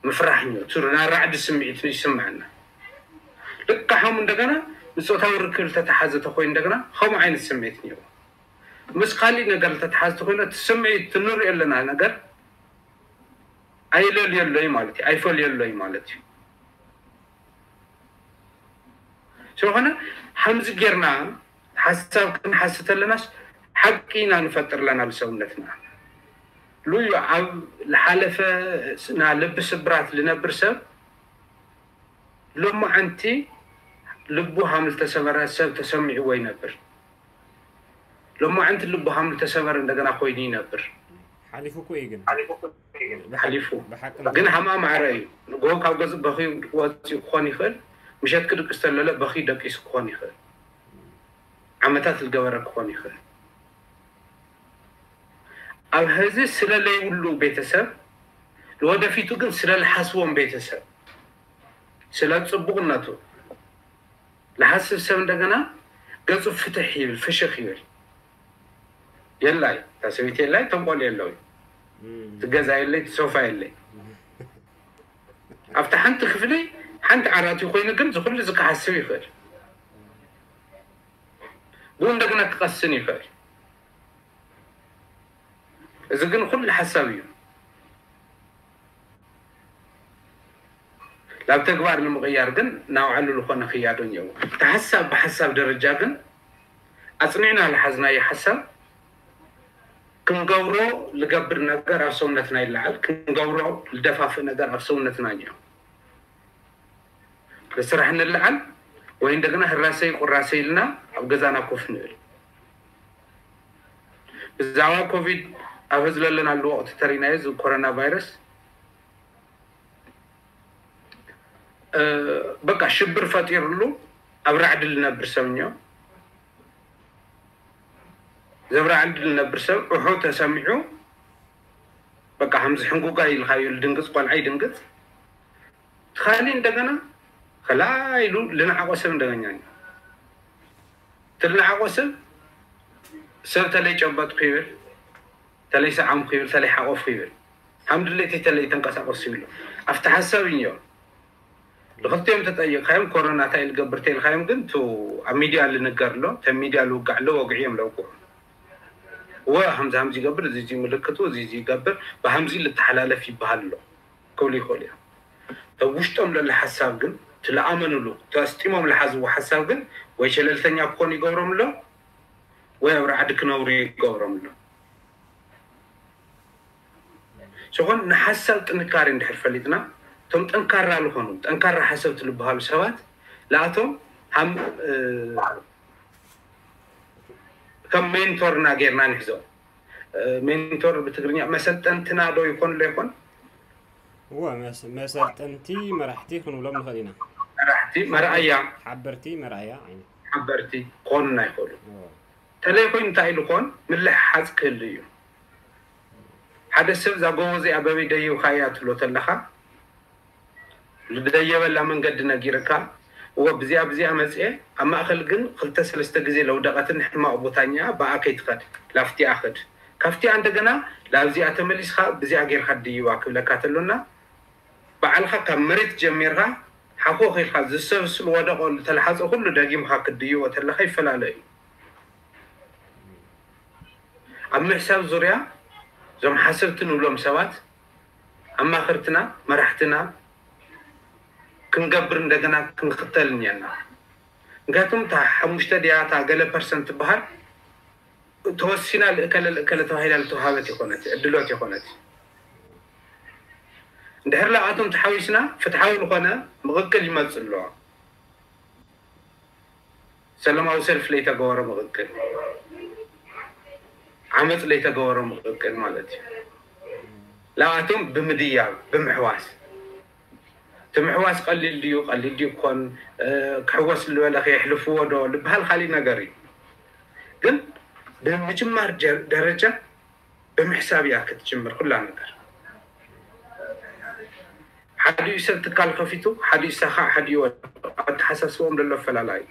ምፍራሕ እኒኦ ቱር ናይ ራዕዲ ስምዒት ይስምዐና ልካ ሃም እንደገና ንፆታዊ ርክብ ዝተተሓዘ ተኮይኑ እንደገና ከምኡ ዓይነት ስምዒት እኒኦ ምስ ካሊእ ነገር ዝተተሓዘ ተኮይኑ እቲ ስምዒት ትንሪኦ ኣለና ነገር ኣይለልየሎይ ማለት እዩ ኣይፈልየሎይ ማለት እዩ ስለኾነ ሓምዚ ጌርና ሓሳብ ክንሓስብ ተለናስ ሓቂ ኢና ንፈጥር ኣለና ልሰውነትና ሉዩ ኣብ ልሓለፈ ና ልቢ ስብራት ልነብር ሰብ ሎማዓንቲ ልቡ ሃም ልተሰበረ ሰብ ተሰሚዕዎ ይነብር ሎማዓንቲ ልቡ ሃም ልተሰበረ እንደገና ኮይኑ ይነብር ሓሊፉ እኮ እዩ ግን ሓሊፉ ብሓቂ ግን ሃማ ማዕረ እዩ ንጎ ካብ ገዝ በኺ ወፂኡ ክኾን ይኽእል ምሸት ክድቅስ ተለለ በኺ ደቂሱ ክኾን ይኽእል ዓመታት ዝገበረ ክኾን ይኽእል ኣብ ህዚ ስለ ለይብሉ ቤተሰብ ንወደፊቱ ግን ስለ ልሓስቦም ቤተሰብ ስለ ፅቡቕነቱ ልሓስብ ሰብ እንደገና ገፁ ፍትሕ ይብል ፍሽኽ ይብል የላይ እታ ሰበይቲ የላይ ተንቆል የለው ትገዛ የለይ ትሶፋ የለይ ኣብቲ ሓንቲ ክፍሊ ሓንቲ ዓራት ኮይኑ ግን ዝኩሉ ዝክሓስብ ይኽእል ብኡ እንደገና ክቐስን ይኽእል እዚ ግን ኩሉ ሓሳብ እዩ ናብ ተግባር ንምቕያር ግን ናውዓሉ ዝኾነ ክያዶ እኒአዎ እቲ ሓሳብ ብሓሳብ ደረጃ ግን ኣፅኒዕና ዝሓዝናዮ ሓሳብ ክንገብሮ ልገብር ነገር ኣብ ሰውነትና ይለዓል ክንገብሮ ልደፋፍእ ነገር ኣብ ሰውነትና እኒኦ ንስራሕ ንለዓል ወይ እንደገና ህራሰይ ቁራሰይ ኢልና ኣብ ገዛና ኮፍ ንብል ብዛዕባ ኮቪድ ኣብ ህዝቢ ለለናሉ ወቅቲ ተሪናዮ እዚ ኮሮና ቫይረስ በቃ ሽብር ፈጢርሉ ኣብ ራዕዲ ልነብር ሰብ እኒኦ ዘብራዕዲ ልነብር ሰብ ዑሑ ተሰሚዑ በቃ ከምዚ ሕንጉጋ ኢልካዮ ልድንግፅ ቆልዓ ይድንግፅ ካሊእ እንደገና ከላ ኢሉ ልንዓቆ ሰብ እንደገኛ እዩ እቲ ልንዓቆ ሰብ ሰብ ተለይ ጨበጥኩ ይብል ተለይ ሰዓምኩ ይብል ተለይ ሓቆፍኩ ይብል ከም ድሌተይ ተለይ ተንቀሳቀሱ ይብሎ ኣብቲ ሓሳብ እዮ ንክልቲኦም ተጠይቅካዮም ኮሮና እንታይ ልገብር ተልካዮም ግን ቱ ኣብ ሚድያ ልንገር ኣሎ ተ ሚድያ ልውጋዕ ኣሎ ወግዒ እዮም ለውግዑ ወ ሃምዚ ሃምዚ ይገብር እዚ እዚ ምልክቱ እዚ እዚ ይገብር ብሃምዚ ልተሓላለፍ ይበሃል ኣሎ ክብሉ ይኽእሉ እዮም ተብ ውሽጦም ለለ ሓሳብ ግን እቲ ለኣመኑሉ ተስጢሞም ለሓዝዎ ሓሳብ ግን ወይ ሸለልተኛ ክኾኑ ይገብሮም ኣሎ ወይ ኣብ ራዕዲ ክነብሩ ይገብሮም ኣሎ። ሽኾን ንሓሳብ ጥንካሬ እንድሕር ፈሊጥና እቶም ጠንካራ ዝኾኑ ጠንካራ ሓሰብቲ ዝበሃሉ ሰባት ለኣቶም ሃም ከም ሜንቶርና ጌርና ንሕዞ። ሜንቶር ብትግርኛ መሰልጠንትና ዶ ይኾን ዶ ይኾን? እወ መሰልጠንቲ መራሕቲ ክንብሎም ንኽእል ኢና። መራሕቲ መርኣያ ሓበርቲ መርኣያ ዓይነት ሓበርቲ ክኾኑና ይኽእሉ። ተለይ ኮይኑ እንታይ ኢሉ ኮን ምልሕሓፅ ክህሉ እዩ። ሓደ ሰብ እዛ ጎቦ እዚኣ በበይ ደይብካ እያ ትብሎ ተለኻ ዝደየበላ መንገዲ ነጊርካ እወ ብዚኣ ብዚኣ መፅኤ ኣብ ማእኸል ግን ክልተ ሰለስተ ግዜ ለውደቐትን ሕማቕ ቦታኛ ብኣ ከይትኸድ ላፍቲኣ ኸድ ካብቲኣ እንደገና ላብዚኣ ተመሊስካ ብዚኣ ጌርካ ድይባ ክብለካ ተሎና ባዕልኻ ካብ መሬት ጀሚርካ ሓኾኽ ኢልካ ዝሰብስል ወደቆ ዝተልሓፀ ኩሉ ደጊምካ ክትድይቦ ተለካ ይፈላለ እዩ። ኣብ ምሕሳብ ዙርያ እዞም ሓሰብቲ ንብሎም ሰባት ኣማኸርትና መራሕትና ክንገብር እንደገና ክንኽተል እኒአና። ምክንያቱም እታ ሓሙሽተ ድያ እታ ገለ ፐርሰንት ትበሃል ተወሲና ልእከለ ልእከለ ተባሂላ ልተዋሃበት ይኮነት ዕድሎት ይኮነት። እንድሕር ላኣቶም ተሓዊስና ፍትሓዊ ዝኾነ ምቕቅል ይመፅእ ኣለዎ። ሰላማዊ ሰልፍ ለይተገበረ ምቕቅል፣ ዓመፅ ለይተገበረ ምቕቅል ማለት እዩ። ላኣቶም ብምድያብ ብምሕዋስ እቲ ምሕዋስ ቀሊል ድዩ ቀሊል ድዩ ክኾን ክሕወስ ዝበለ ከየሕልፍዎ ዶ ዝበሃል ካሊእ ነገር እዩ። ግን ብምጅማር ደረጃ ብምሕሳብ እያ ክትጅምር ኩላ ነገር። ሓዲኡ ሰብ ትካል ከፊቱ ሓዲኡ ሳኻ ሓዲኡ ኣተሓሳስቦም ዘሎ ኣፈላላይ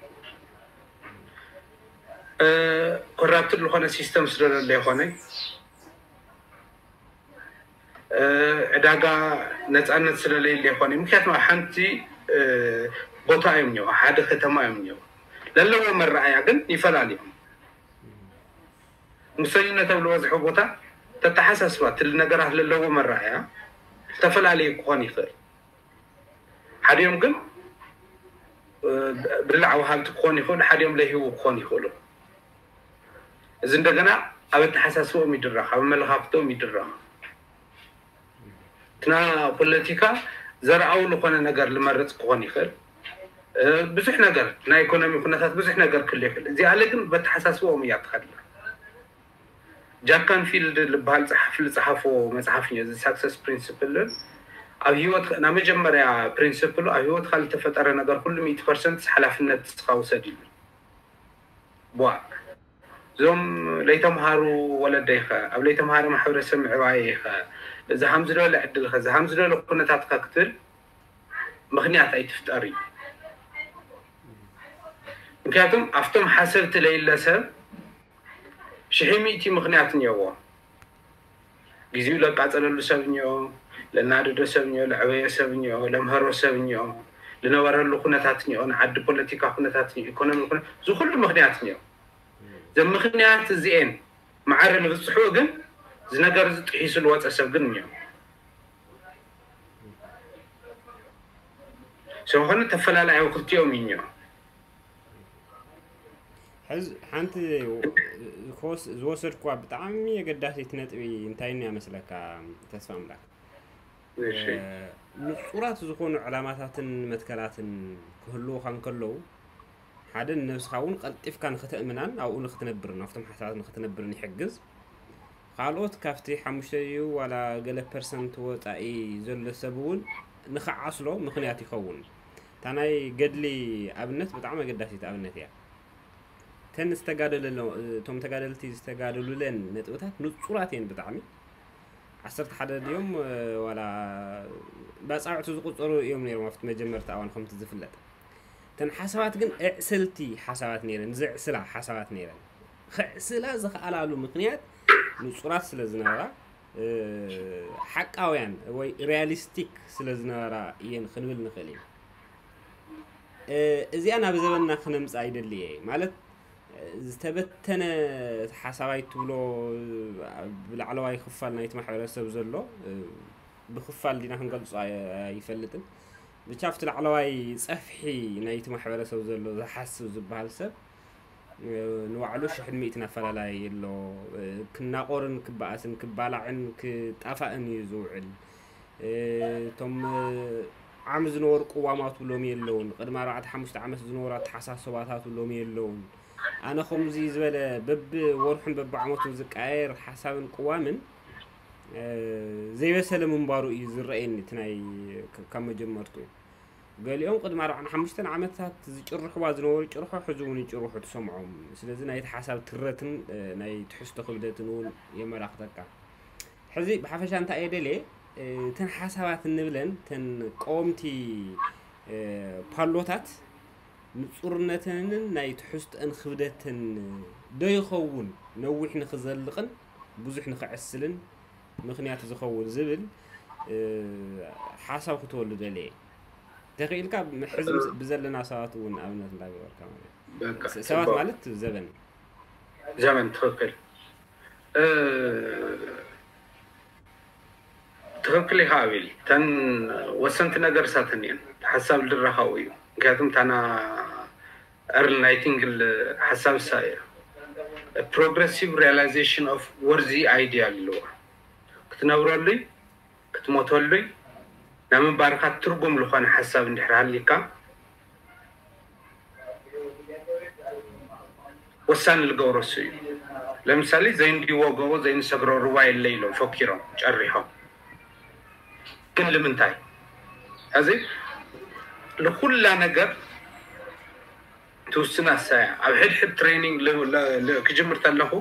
ኮራፕትድ ዝኾነ ሲስተም ስለዘለ ይኾነ ዕዳጋ ነፃነት ስለለየለ ይኾነ ምክንያቱ ሓንቲ ቦታ እዮም ኒው ሓደ ከተማ እዮም ኒው ለለዎ መረኣያ ግን ይፈላለዮም። ሙሰኝነት ኣብ ዝበዝሖ ቦታ ተተሓሳስባ ትል ነገራት ለለዎ መረኣያ ዝተፈላለዩ ክኾን ይኽእል። ሓዲኦም ግን ብላዕ ወሃብቲ ክኾኑ ይኽእሉ፣ ሓዲኦም ለይህቡ ክኾኑ ይኽእሉ። እዚ እንደገና ኣብ ኣተሓሳስቦም ይድረኽ፣ ኣብ ኣመለኻኽትኦም ይድረኽ። እትና ፖለቲካ ዘርኣዊ ዝኾነ ነገር ልመርፅ ክኾን ይኽእል። ብዙሕ ነገር ናይ ኢኮኖሚ ኩነታት ብዙሕ ነገር ክህሉ ይኽእል። እዚኣለ ግን በተሓሳስቦኦም እያ ትኸድላ። ጃክ ካንፊልድ ዝበሃል ፀሓፊ ዝፀሓፎ መፅሓፍ እዩ እዚ ሳክሰስ ፕሪንስፕል። ኣብ ህይወት ናይ መጀመርያ ፕሪንስፕሉ ኣብ ህይወትካ ዝተፈጠረ ነገር ኩሉ ሚእቲ ፐርሰንት ሓላፍነት ንስኻ ውሰድ ይብል። ቧ እዞም ለይተምሃሩ ወለደይኸ ኣብ ለይተምሃረ ማሕበረሰብ ምዕባየይኸ እዚ ሃምዚ ዝበለ ዕድልኸ እዚ ሃምዚ ዝበለ ኩነታትካ ክትብል ምኽንያት ኣይትፍጠር እዩ። ምክንያቱም ኣብቶም ሓሰብቲ ለይለ ሰብ ሽሒ ሚእቲ ምኽንያት እኒኦዎ። ግዜኡ ለቃፀለሉ ሰብ እኒኦ፣ ለናደዶ ሰብ እኒኦ፣ ለዕበዮ ሰብ እኒኦ፣ ለምሀሮ ሰብ እኒኦ፣ ልነበረሉ ኩነታት እኒኦ፣ ንዓዲ ፖለቲካ ኩነታት እኒኦ፣ ኢኮኖሚ ኩነ እዚ ኩሉ ምኽንያት እኒኦ። እዘን ምኽንያት እዚኤን ማዕረ ንብፅሑ ግን እዚ ነገር እዚ ጥሒሱ ዝወፀ ሰብ ግን እኒኦ። ስለኾነ ተፈላላያዊ ክልቲኦም እዩ እኒኦ። ሕዚ ሓንቲ ዝወሰድኩዋ ብጣዕሚ ኣገዳሲት ነጥቢ እንታይ እያ መስለካ ተስፋ ኣምላክ? ንፁራት ዝኾኑ ዕላማታትን መትከላትን ክህልውኻ እንከለዉ ሓደ ንነብስኻ እውን ቀልጢፍካ ንክተእምናን ኣብኡ ንክትነብርን ኣብቶም ሓሳባት ንክትነብርን ይሕግዝ። ካልኦት ካብቲ ሓሙሽተ ድዩ ዋላ ገለ ፐርሰንት ወፃኢ ዘሎ ሰብ እውን ንክዓስሎ ምኽንያት ይኸውን። እታ ናይ ገድሊ ኣብነት ብጣዕሚ ኣገዳሲት ኣብነት እያ። እተን ዝተጋደለሎ እቶም ተጋደልቲ ዝተጋደሉለን ነጥብታት ንፁራት እየን ብጣዕሚ። ዓሰርተ ሓደ ድዮም ዋላ ባፃውዕቲ ዝቁፀሩ እዮም ነይሮም ኣብቲ መጀመርታ እዋን ከምቲ ዝፍለጥ። እተን ሓሳባት ግን ኣዕሰልቲ ሓሳባት ነይረን፣ ዘዕስላ ሓሳባት ነይረን። ከዕስላ ዝኸኣላሉ ምኽንያት ንፁራት ስለ ዝነበራ ሓቃውያን ወይ ሪያሊስቲክ ስለ ዝነበራ እየን ክንብል ንኽእል ኢና። እዚኣ ናብ ዘበንና ክነምፅኣ ይደሊ እየ ማለት ዝተበተነ ሓሳባይ ትብሎ ብላዕለዋይ ክፋል ናይቲ ማሕበረሰብ ዘሎ ብክፋል ዲና ክንገልፆ ኣይፈልጥን። ብቻ ኣብቲ ላዕለዋይ ጸፍሒ ናይቲ ማሕበረሰብ ዘሎ ዝሓስብ ዝበሃል ሰብ፣ እ፣ ንባዕሉ ሽሕን ሚእትን ኣፈላላይ ኣሎ። እ፣ ክናቆርን ክበኣስን፣ ክባላዕን ክጣፋእን እዩ ዝውዕል። እ፣ እቶም፣ እ፣ ዓም ዝነበሩ ቅዋማቱ ሎሚ የለውን። ቅድሚ ኣርባዕተ ሓሙሽተ ዓመት ዝነበሩ ኣተሓሳስባታቱ ሎሚ የለውን። ኣነ ከምዚ ዝበለ በብወርሑን በብዓመቱን ዝቀያየር ሓሳብን ቅዋምን፣ እ፣ ዘይበሰለ ምንባሩ እዩ ዝረኣየኒ፣ እቲ ናይ፣ ክ-፣ ካብ መጀመርትኡ። ገሊኦም ቅድሚ ኣርባዓን ሓሙሽተን ዓመታት ዝጭርሕዋ ዝነበሩ ጭርሖ፣ ሕዚ እውን ይጭርሑ ትሰምዖም። ስለዚ ናይቲ ሓሳብ ትረትን፣ እ፣ ናይ ትሕዝቶ ክብደትን እውን የመላኽተካ። ሕዚ ብሓፈሻ እንታይ እየ ደልየ፣ እ፣ እተን ሓሳባት እንብለን፣ እተን ቀወምቲ፣ እ፣ ፓሎታት ንጹርነተንን ናይ ትሕዝቶአን ክብደትን ዶ ይኸውን ነዊሕ ንኽዘልቕን ብዙሕ ንኽዕስልን ምኽንያት ዝኸውን ዝብል፣ እ፣ ሓሳብ ክትወሉ ደልየ። ተኽኢልካ ሕዚ ምስ-፣ ብዘለና ሰባት እውን ኣብነት እንዳገበርካ ማለት እዩ። በቃ፣ ስ-፣ ሰባት ጽቡቕ። ማለት ዘበን። ዘበን፣ ትኽክል። እ፣ ትኽክል ኢኻ ኣቤል። እተን ወሰንቲ ነገር እሳተን እየን። ሓሳብ ልድራኻኡ እዩ። ምክንያቱም ታና ኤርል ናይቲንግል ሓሳብ እሳ እያ። Progressive realization of worthy ideal ኣለዋ። ክትነብረሉይ፣ ክትሞተሉይ፣ ናይ ምንባርካ ትርጉም ዝኾነ ሓሳብ እንድሕር ሃሊካ፣ ወሳኒ ዝገብሮ እሱ እዩ። ለምሳሌ፣ "ዘይንድይዎ ጎቦ ዘይንሰግሮ ሩባ የለ" ኢሎም ፈኪሮም፣ ጨሪሖም። ግን ልምንታይ? ሕዚ ንኩላ ነገር ትውስና እሳ እያ። ኣብ ሕድሕድ ትሬኒንግ ል-፣ ል-፣ ል-፣ ክጅምር ተለኹ፣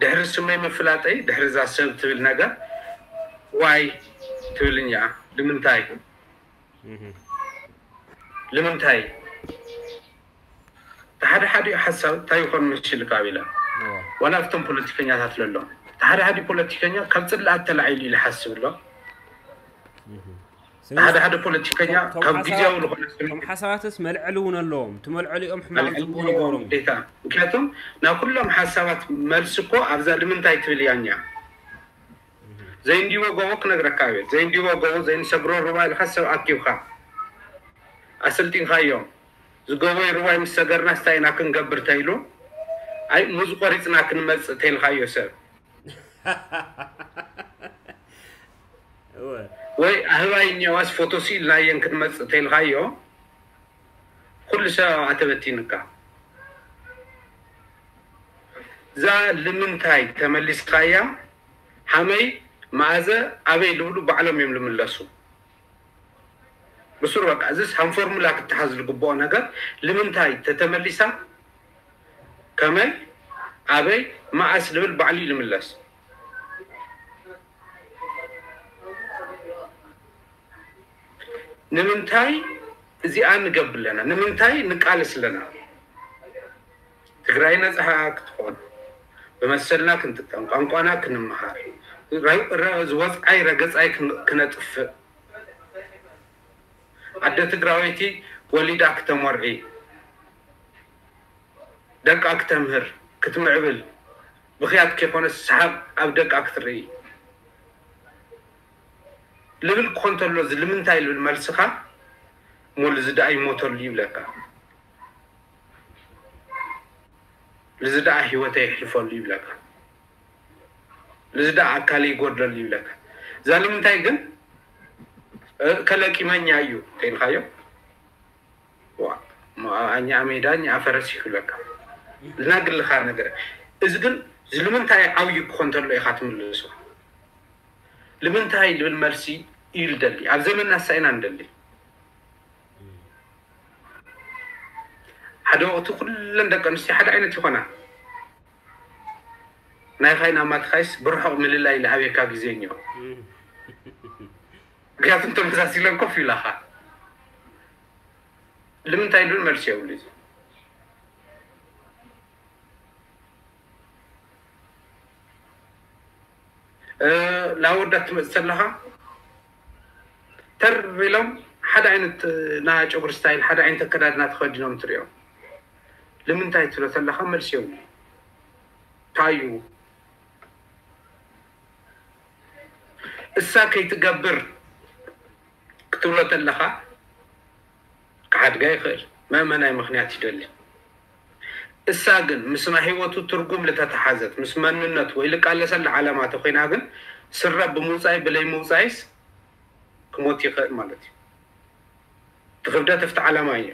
ድሕሪ ስመይ ምፍላጠይ፣ ድሕሪ እዛ ሰብ ትብል ነገር፣ ዋይ ትብልኛ፣ ልምንታይ? እህ። ልምንታይ? እቲ ሓደ ሓዲኡ ሓሳብ እንታይ ይኾን መሲልካ፣ ኣቤላ? እዎ። ዋላ ኣብቶም ፖለቲከኛታት ለሎ። እቲ ሓደ ሓዲኡ ፖለቲከኛ ካብ ጽልኣት ተላዒሉ ኢሉ ይሓስብ ኣሎ። እህ። እቲ ሓደ ሓደ ፖለቲከኛ እቶም፣ እቶም ካብ ግዜያዊ ሓሳባት፣ ዝኾነ እቶም ሓሳባትስ መልዐሊ እውን ኣለዎም። እቲ መልዐሊኦም ሕማቕ መልዐሊ ጽቡቕ እውን ኣለዎም ነገሮም። ግዴታ። ምክንያቱም ናብ ኩሎም ሓሳባት መልሲ እኮ ኣብዛ ልምንታይ ትብል እያ እኛ። ዘይንድይዎ ጎቦ ክነግረካ እየ። ዘይንድይዎ ጎቦ፣ ዘይንሰግሮ ሩባ ኢልካ ሰብ ኣኪብካ ኣሰልጢንካዮ። ዝጎቦይ ሩባይ ምስ ሰገርናስ እንታይ ኢና ክንገብር ተይሉ፣ ኣይ፣ ሙዝ ቆሪጽና ክንመጽእ ተይልካዮ ሰብ። እወ። ወይ ኣህባይ እኒኦዋስ ፎቶ ስኢልናየን ክንመጽእ ተይልካዮ፣ ኩሉ ሰብ ኣብኣ ተበቲንካ። እዛ ልምንታይ ተመሊስካያ፣ ሃመይ፣ መኣዘ፣ ኣበይ ልብሉ ባዕሎም እዮም ልምለሱ። ብሱር በቃ፣ እዚስ ሃም ፎርሙላ ክተሓዝ ዝግብኦ ነገር፣ ልምንታይ ተተመሊሳ፣ ከመይ፣ ኣበይ፣ መኣስ ልብል ባዕሉ እዩ ልምለስ። ንምንታይ እዚኣ ንገብር ኣለና? ንምንታይ ንቃለስ ኣለና? ትግራይ ነፃ ክትኾን፣ ብመሰልና ክንጥቀም፣ ቋንቋና ክንመሃር፣ ረ-፣ ረ-፣ ዝወፅዓይ ረገፃይ ክን-፣ ክነጥፍእ፣ ኣደ ትግራወይቲ ወሊዳ ክተመርዒ፣ ደቃ ክተምህር፣ ክትምዕብል፣ ብኽያት ከይኮነስ ሰሓቕ ኣብ ደቃ ክትርኢ ልብል ክኾን ተሎ፣ እዚ ልምንታይ ልብል መልስኻ፣ እሞ ልዚ ደኣ ይሞተሉ ይብለካ። ልዚ ደኣ ህይወተይ የሕልፈሉ ይብለካ። ልዚ ደኣ ኣካለይ ይጎድለሉ ይብለካ። እዛ ልምንታይ ግን፣ እ፣ ከለቂመኛ እዩ ተይልካዮ፣ ዋ፣ ሞ-፣ ኣኛ ሜዳ፣ እኛ ፈረስ ይብለካ። ልናግልኻ ነገር። እዚ ግን፣ እዚ ልምንታይ ዓብዩ ክኾን ተሎ ኢኻ ትምልሶ? ልምንታይ ልብል መልሲ እዩ ልደሊ። ኣብ ዘመንና እሳ ኢና ንደሊ። ሓደ ወቕቲ ኩለን ደቂ ኣንስትዮ ሓደ ዓይነት ይኾና። ናይኻይ ናማትኻይስ ብርሑቕ ምልላይ ልኣብየካ ግዜ እኒኦ። እም። ምክንያቱም ተመሳሲለን ኮፍ ኢላኻ። ልምንታይ ልብል መልሲ የብሉ እዩ። እ፣ ላወዳት ትመጽእ ተለኻ፣ ተር ኢሎም ሓደ ዓይነት፣ እ፣ ናይ ጨጉሪ ስታይል፣ ሓደ ዓይነት ኣከዳድና ተኸዲኖም ትሪኦም። ልምንታይ ትብሎ ተለኻ፣ መልሲ የብሉ። እንታይ እዩ? እሳ ከይትገብር ክትብሎ ተለኻ፣ ክሓድጋ ይኽእል። መእመናይ ምኽንያት ይደሊ። እሳ ግን ምስ ናይ ህይወቱ ትርጉም ልተተሓዘት፣ ምስ መንነቱ ወይ ልቃለሰላ ዓላማ ተኾይና ግን፣ ስረ ብምውጻይ ብለይ ምውጻይስ ክሞት ይኽእል ማለት እዩ። እቲ ክብደት ኣብቲ ዓላማ እዩ።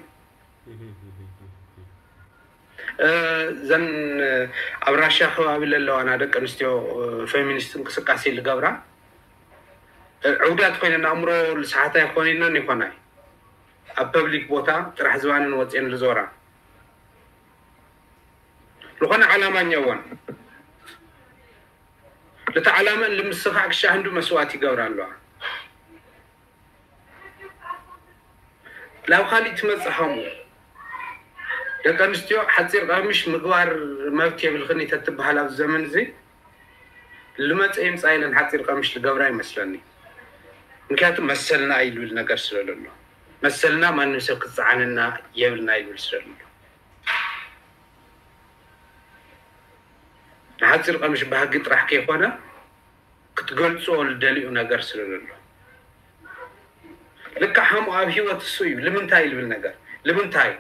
እ፣ እዘን ኣብ ራሽያ ከባቢ ለለዋና ደቂ ኣንስትዮ፣ እ፣ ፌሚኒስት እንቅስቃሴ ልገብራ፣ እ፣ ዕውዳት ኮይነን ኣእምሮ ልስሓታ ይኾን ኢልነን ይኾናይ ኣብ ፐብሊክ ቦታ ጥራሕ ዝባነን ወፅየን ልዞራ ዝኾነ ዓላማ እኛዋን ልቲ ዓላመን ልምስኻዕ ክሻ ህንዱ መስዋዕት ይገብራ ኣለዋ። ናብ ካሊእ ትመፅእ ሃሙ ደቂ ኣንስትዮ ሓፂር ቀምሽ ምግባር መብት የብልክን ተትበሃል ኣብዚ ዘመን እዚ ልመፀ ይምፃ ኢለን ሓፂር ቀምሽ ልገብራ ይመስለኒ። ምክንያቱ መሰልና እዩ ልብል ነገር ስለለሎ፣ መሰልና ማንም ሰብ ክፀዓነና የብልና ይብል ስለለሎ፣ ንሓፂር ቀምሽ ባህጊ ጥራሕ ከይኮነ ክትገልፆ ልደልዩ ነገር ስለለሎ፣ ልካ ሓሙ ኣብ ህይወት እሱ እዩ። ልምንታይ ልብል ነገር ልምንታይ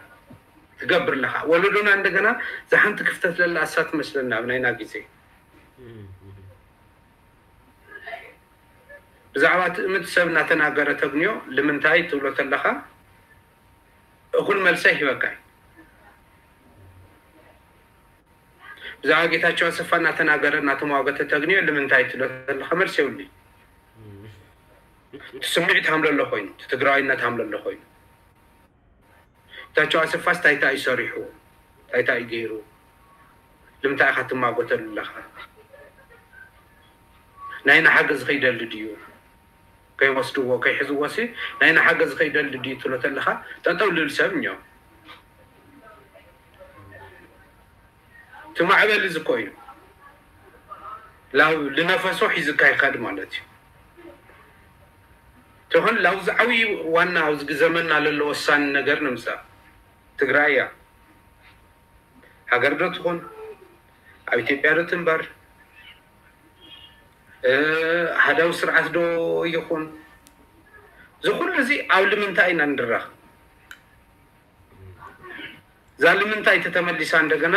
ትገብር ኣለኻ? ወለዶና እንደገና ዝሓንቲ ክፍተት ለላ እሳ ትመስለና ኣብ ናይና ግዜ። ብዛዕባ ትእምት ሰብ እናተናገረ ተግንዮ ልምንታይ ትብሎ ተለኻ እኹል መልሰ ይህበካ እዩ። ብዛዕባ ጌታቸው ኣሰፋ እናተናገረ እናተሟገተ ተግንዮ ልምንታይ ትብሎ ተለኻ መልሲ የብሉይ። እቲ ስምዒት ሃምለሎ ኮይኑ፣ እቲ ትግራዋይነት ሃምለሎ ኮይኑ፣ ጌታቸው ኣሰፋስ ታይታ እዩ ሰሪሑ፣ ታይታ እዩ ገይሩ፣ ልምንታይ ኢኻ ትማጎተሉ ኣለኻ? ናይና ሓገዝ ከይደሊ ድዩ? ከይወስድዎ ከይሕዝዎ ሲ ናይና ሓገዝ ከይደሊ ድዩ ትብሎ ተለኻ ጠጠው ልብል ሰብ እኛ እቲ ማዕበል እዚ እኮ እዩ። ላው ልነፈሶ ሒዝካ ይኸድ ማለት እዩ። ትኾን ላው ዝዓብይ ዋና ኣብዚ ዘመንና ለሎ ወሳኒ ነገር ንምፃእ ትግራይ እያ። ሃገር ዶ ትኾን ኣብ ኢትዮጵያ ዶ ትንበር፣ እ፣ ሃዳዊ ስርዓት ዶ ይኹን፣ እዚ ኩሉ እዚ ኣብ ልምንታይ ኢና ንድረኽ? እዛ ልምንታይ ተተመሊሳ እንደገና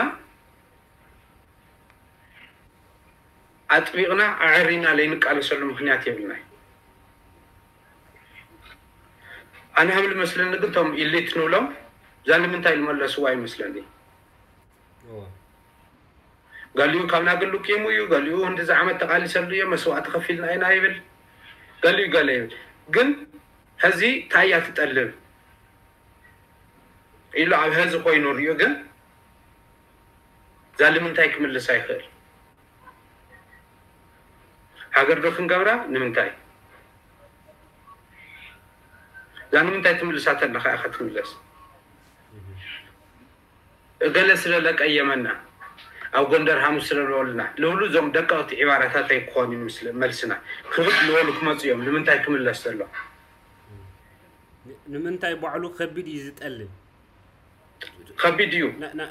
ኣጥቢቕና ኣዕሪና ለይንቃለሰሉ ምክንያት የብልናይ። ኣነ ሃም ልመስለኒ ግን እቶም ኢሊት ንብሎም እዛ ንምንታይ ዝመለስዋ ይመስለኒ። ገሊኡ ካብ ናግሉ ቂሙ እዩ፣ ገሊኡ እንደዚ ዓመት ተቃሊሰሉ እየ፣ መስዋዕቲ ከፊልና ኢና ይብል፣ ገሊኡ ገለ ይብል። ግን ሕዚ ታያ ትጠልብ ኢሉ ኣብ ሕዚ ኮይኑ ሪኡ ግን እዛ ንምንታይ ክምልስ ኣይኽእል። ሃገር ዶ ክንገብራ ንምንታይ? እዛ ንምንታይ ትምልሳ ተለኻ ኢኻ ትምለስ። እገለ ስለ ለቀየመና ኣብ ጎንደር ሃሙስ ስለ ዝበሉና ልብሉ እዞም ደቀቕቲ ዒባራታት ኣይክኾኑ እዩ ምስለ-፣ መልስና። ክብድ ዝበሉ ክመፁ እዮም። ንምንታይ ክምለስ ዘሎ? ንምንታይ ባዕሉ ከቢድ እዩ ዝጠልብ? ከቢድ እዩ።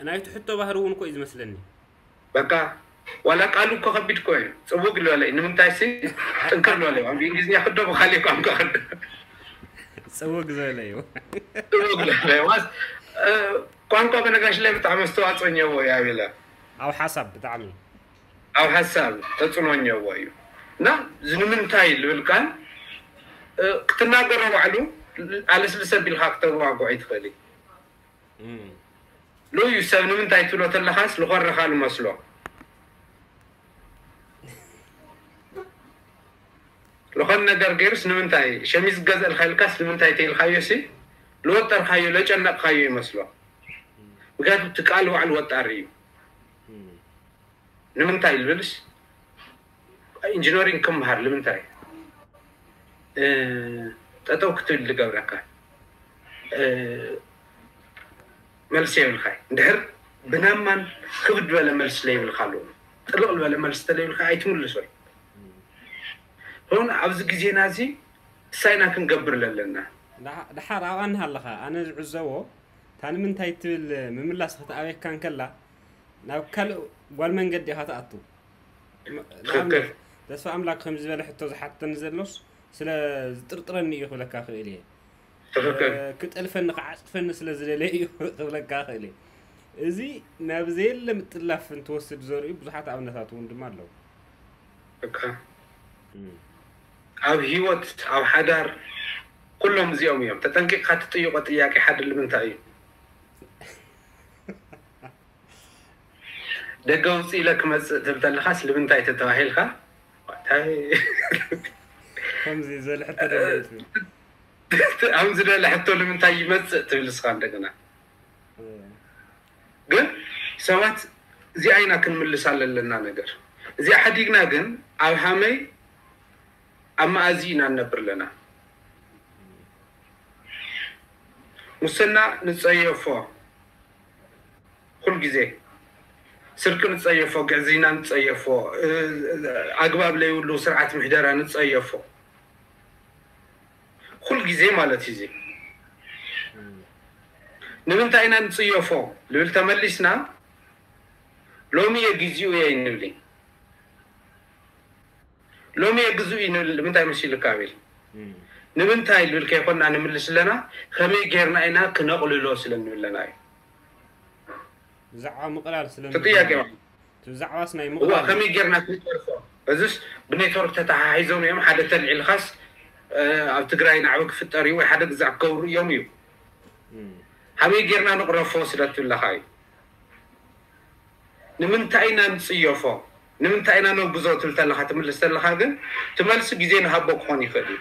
ናይቲ ሕቶ ባህሪ እውን እኮ እዩ ዝመስለኒ። በቃ ዋላ ቃሉ እኮ ከቢድ እኮ እዩ። ፅውግ ዝበለ እዩ። ንምንታይ ሲ ጥንክር ዝበለ እዩ። ኣብ እንግሊዝኛ ክዶ ብካሊእ ቋንቋ ክዶ ፅውግ ዝበለ እዩ። ፅውግ ዝበለ እዩ። ዋስ እ፣ ቋንቋ በነጋሽ ላይ ብጣዕሚ ኣስተዋፅኦ እኛዎ እዩ ኣቤላ። ኣብ ሓሳብ ብጣዕሚ ኣብ ሓሳብ ተፅዕኖ እኛዎ እዩ። እና እዚ ንምንታይ ዝብል ቃል እ፣ ክትናገሮ ባዕሉ ኣለስልሰ ቢልካ ክተዋግዖ ይትኽእል እዩ። እም። ልዩ ሰብ ንምንታይ ትብሎ ተለኻስ ልኾረኻ ልመስሎ። ልኾን ነገር ገይሩስ ንምንታይ ሸሚዝ ገዘእልካ ኢልካስ ንምንታይ ተይልካዮ ሲ ልወጠርካዮ ለጨነቕካዮ ይመስሎ። ምክንያቱ እቲ ቃል ባዕሉ ወጣሪ እዩ። እም። ንምንታይ ልብልስ ኢንጂነሪንግ ክምሃር ንምንታይ እ፣ ጠጠው ክትብል ልገብረካ እ፣ መልሲ የብልካ። እንድሕር ብናማን ክብድ ዝበለ መልሲ ለይብልካ ኣለዎ። ጥልቕ ዝበለ መልሲ ተለይብልካ ኣይትምልሶይ። ሆን ኣብዚ ግዜና እዚ እሳይና ክንገብር ለለና ደሓ- ደሓር ኣብኣ እንሃለኻ ኣነ ዝዕዘቦ እታ ንምንታይ ትብል ምምላስ ክትኣበካ እንከላ ናብ ካልእ ጓል መንገዲ ኢኻ ትኣቱ። ትኽክል። ተስፋ ኣምላክ ከምዚ ዝበለ ሕቶ ዝሓተኒ ዘሎስ ስለ ዝጥርጥረኒ እዩ ክብለካ ክእል እየ። ትኽክል። ክጠልፈኒ ክዓፅፈኒ ስለ ዝደለየ እዩ ክብለካ ክእል እየ። እዚ ናብ ዘየለ ምጥላፍ እንትወስድ ዘርእዩ ብዙሓት ኣብነታት እውን ድማ ኣለዉ። እካ ኣብ ህይወት ኣብ ሓዳር ኩሎም እዚኦም እዮም። ተጠንቂቕካ ትጥይቆ ጥያቄ ሓደ ንምንታይ እዩ? ደገ ውፅእ ኢለ ክመፅእ ትብል ተለኻስ ልምንታይ ተተባሂልካ? እንታይ ከምዚ ዝበለ ሕቶ ደገ ውፅእ። ኣብ ዝደለ ሕቶ ንምንታይ ይመፅእ ትብል እስኻ እንደገና። ግን ሰባት እዚኣ ኢና ክንምልሳ ለለና ነገር። እዚኣ ሓዲግና ግን ኣብ ሃመይ ኣብ መኣዚ ኢና ንነብር ኣለና። ሙስና ንፀየፎ ኩል ግዜ፣ ስርቂ ንፀየፎ፣ ግዕዝይና ንፀየፎ፣ ኣግባብ ለይብሉ ስርዓት ምሕደራ ንፀየፎ ኩል ግዜ ማለት እዩ። እዚ ንምንታይ ኢና ንፅየፎ ልብል ተመሊስና ሎሚ እየ ግዚኡ እየ ንብል። ሎሚ እየ ግዝኡ እዩ ንብል ንምንታይ መሲልካ ኣቤል? ንምንታይ ልብል ከይኮንና ንምልስ ኣለና፣ ከመይ ጌርና ኢና ክነቕልሎ ስለ ንብል ኣለና እዩ። ብዛዕባ ምቕላል ስለ እቲ ጥያቄ ብዛዕባስ ናይ እዋ ምቕላል ከመይ ጌርና ክንጨርሶ? እዚስ ብኔትወርክ ተተሓሒዞም እዮም። ሓደ ተልዒልካስ ኣብ ትግራይ ናዕቢ ክፍጠር እዩ ወይ ሓደ ግዛዕ ክገብሩ እዮም እዩ። ከመይ ጌርና ንቕረፎ ስለ ትብለካ እዩ። ንምንታይ ኢና ንፅየፎ? ንምንታይ ኢና ነውግዞ ትብል ተለካ ትምልስ ተለካ ግን ትመልሲ ግዜ ንሃቦ ክኾን ይኽእል እዩ።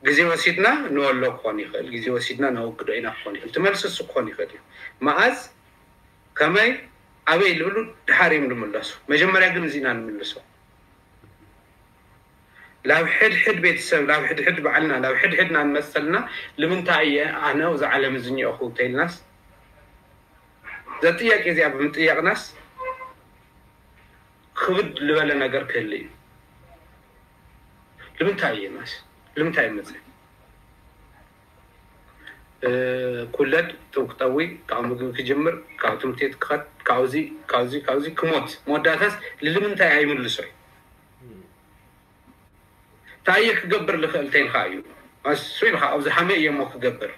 ግዜ ወሲድና ንወሎ ክኾን ይኽእል፣ ግዜ ወሲድና ነወግዶ ኢና ክኾን ይኽእል። ትመልሲ እሱ ክኾን ይኽእል እዩ። መኣዝ፣ ከመይ፣ ኣበይ ልብሉ ድሓር እዮም ዝምለሱ። መጀመርያ ግን እዚና ንምልሶ። ላብ ሕድሕድ ቤተሰብ ላብ ሕድሕድ ባዕልና ላብ ሕድሕድና ንመፀልና። ልምንታይ እየ ኣነ እዚ ዓለም እዚ እኒኦኹ ተይልናስ ዘጥያቄ እዚኣ ብምጥያቅናስ ክብድ ዝበለ ነገር ክህል እዩ። ልምንታይ እየ ማስ ልምንታይ መፀ ኩለድ ጥውቅጠዊ ካብ ምግቢ ክጅምር ካብ ትምህርቲ ክኸድ ካብዚ ካብዚ ካብዚ ክሞት መወዳእታስ ልልምንታይ ኣይምልሶ እዩ። እንታይ እየ ክገብር ልኽእል ተይልካ እዩ ኣሱ ኢልካ ኣብዚ ሓመይ እየ እሞ ክገብር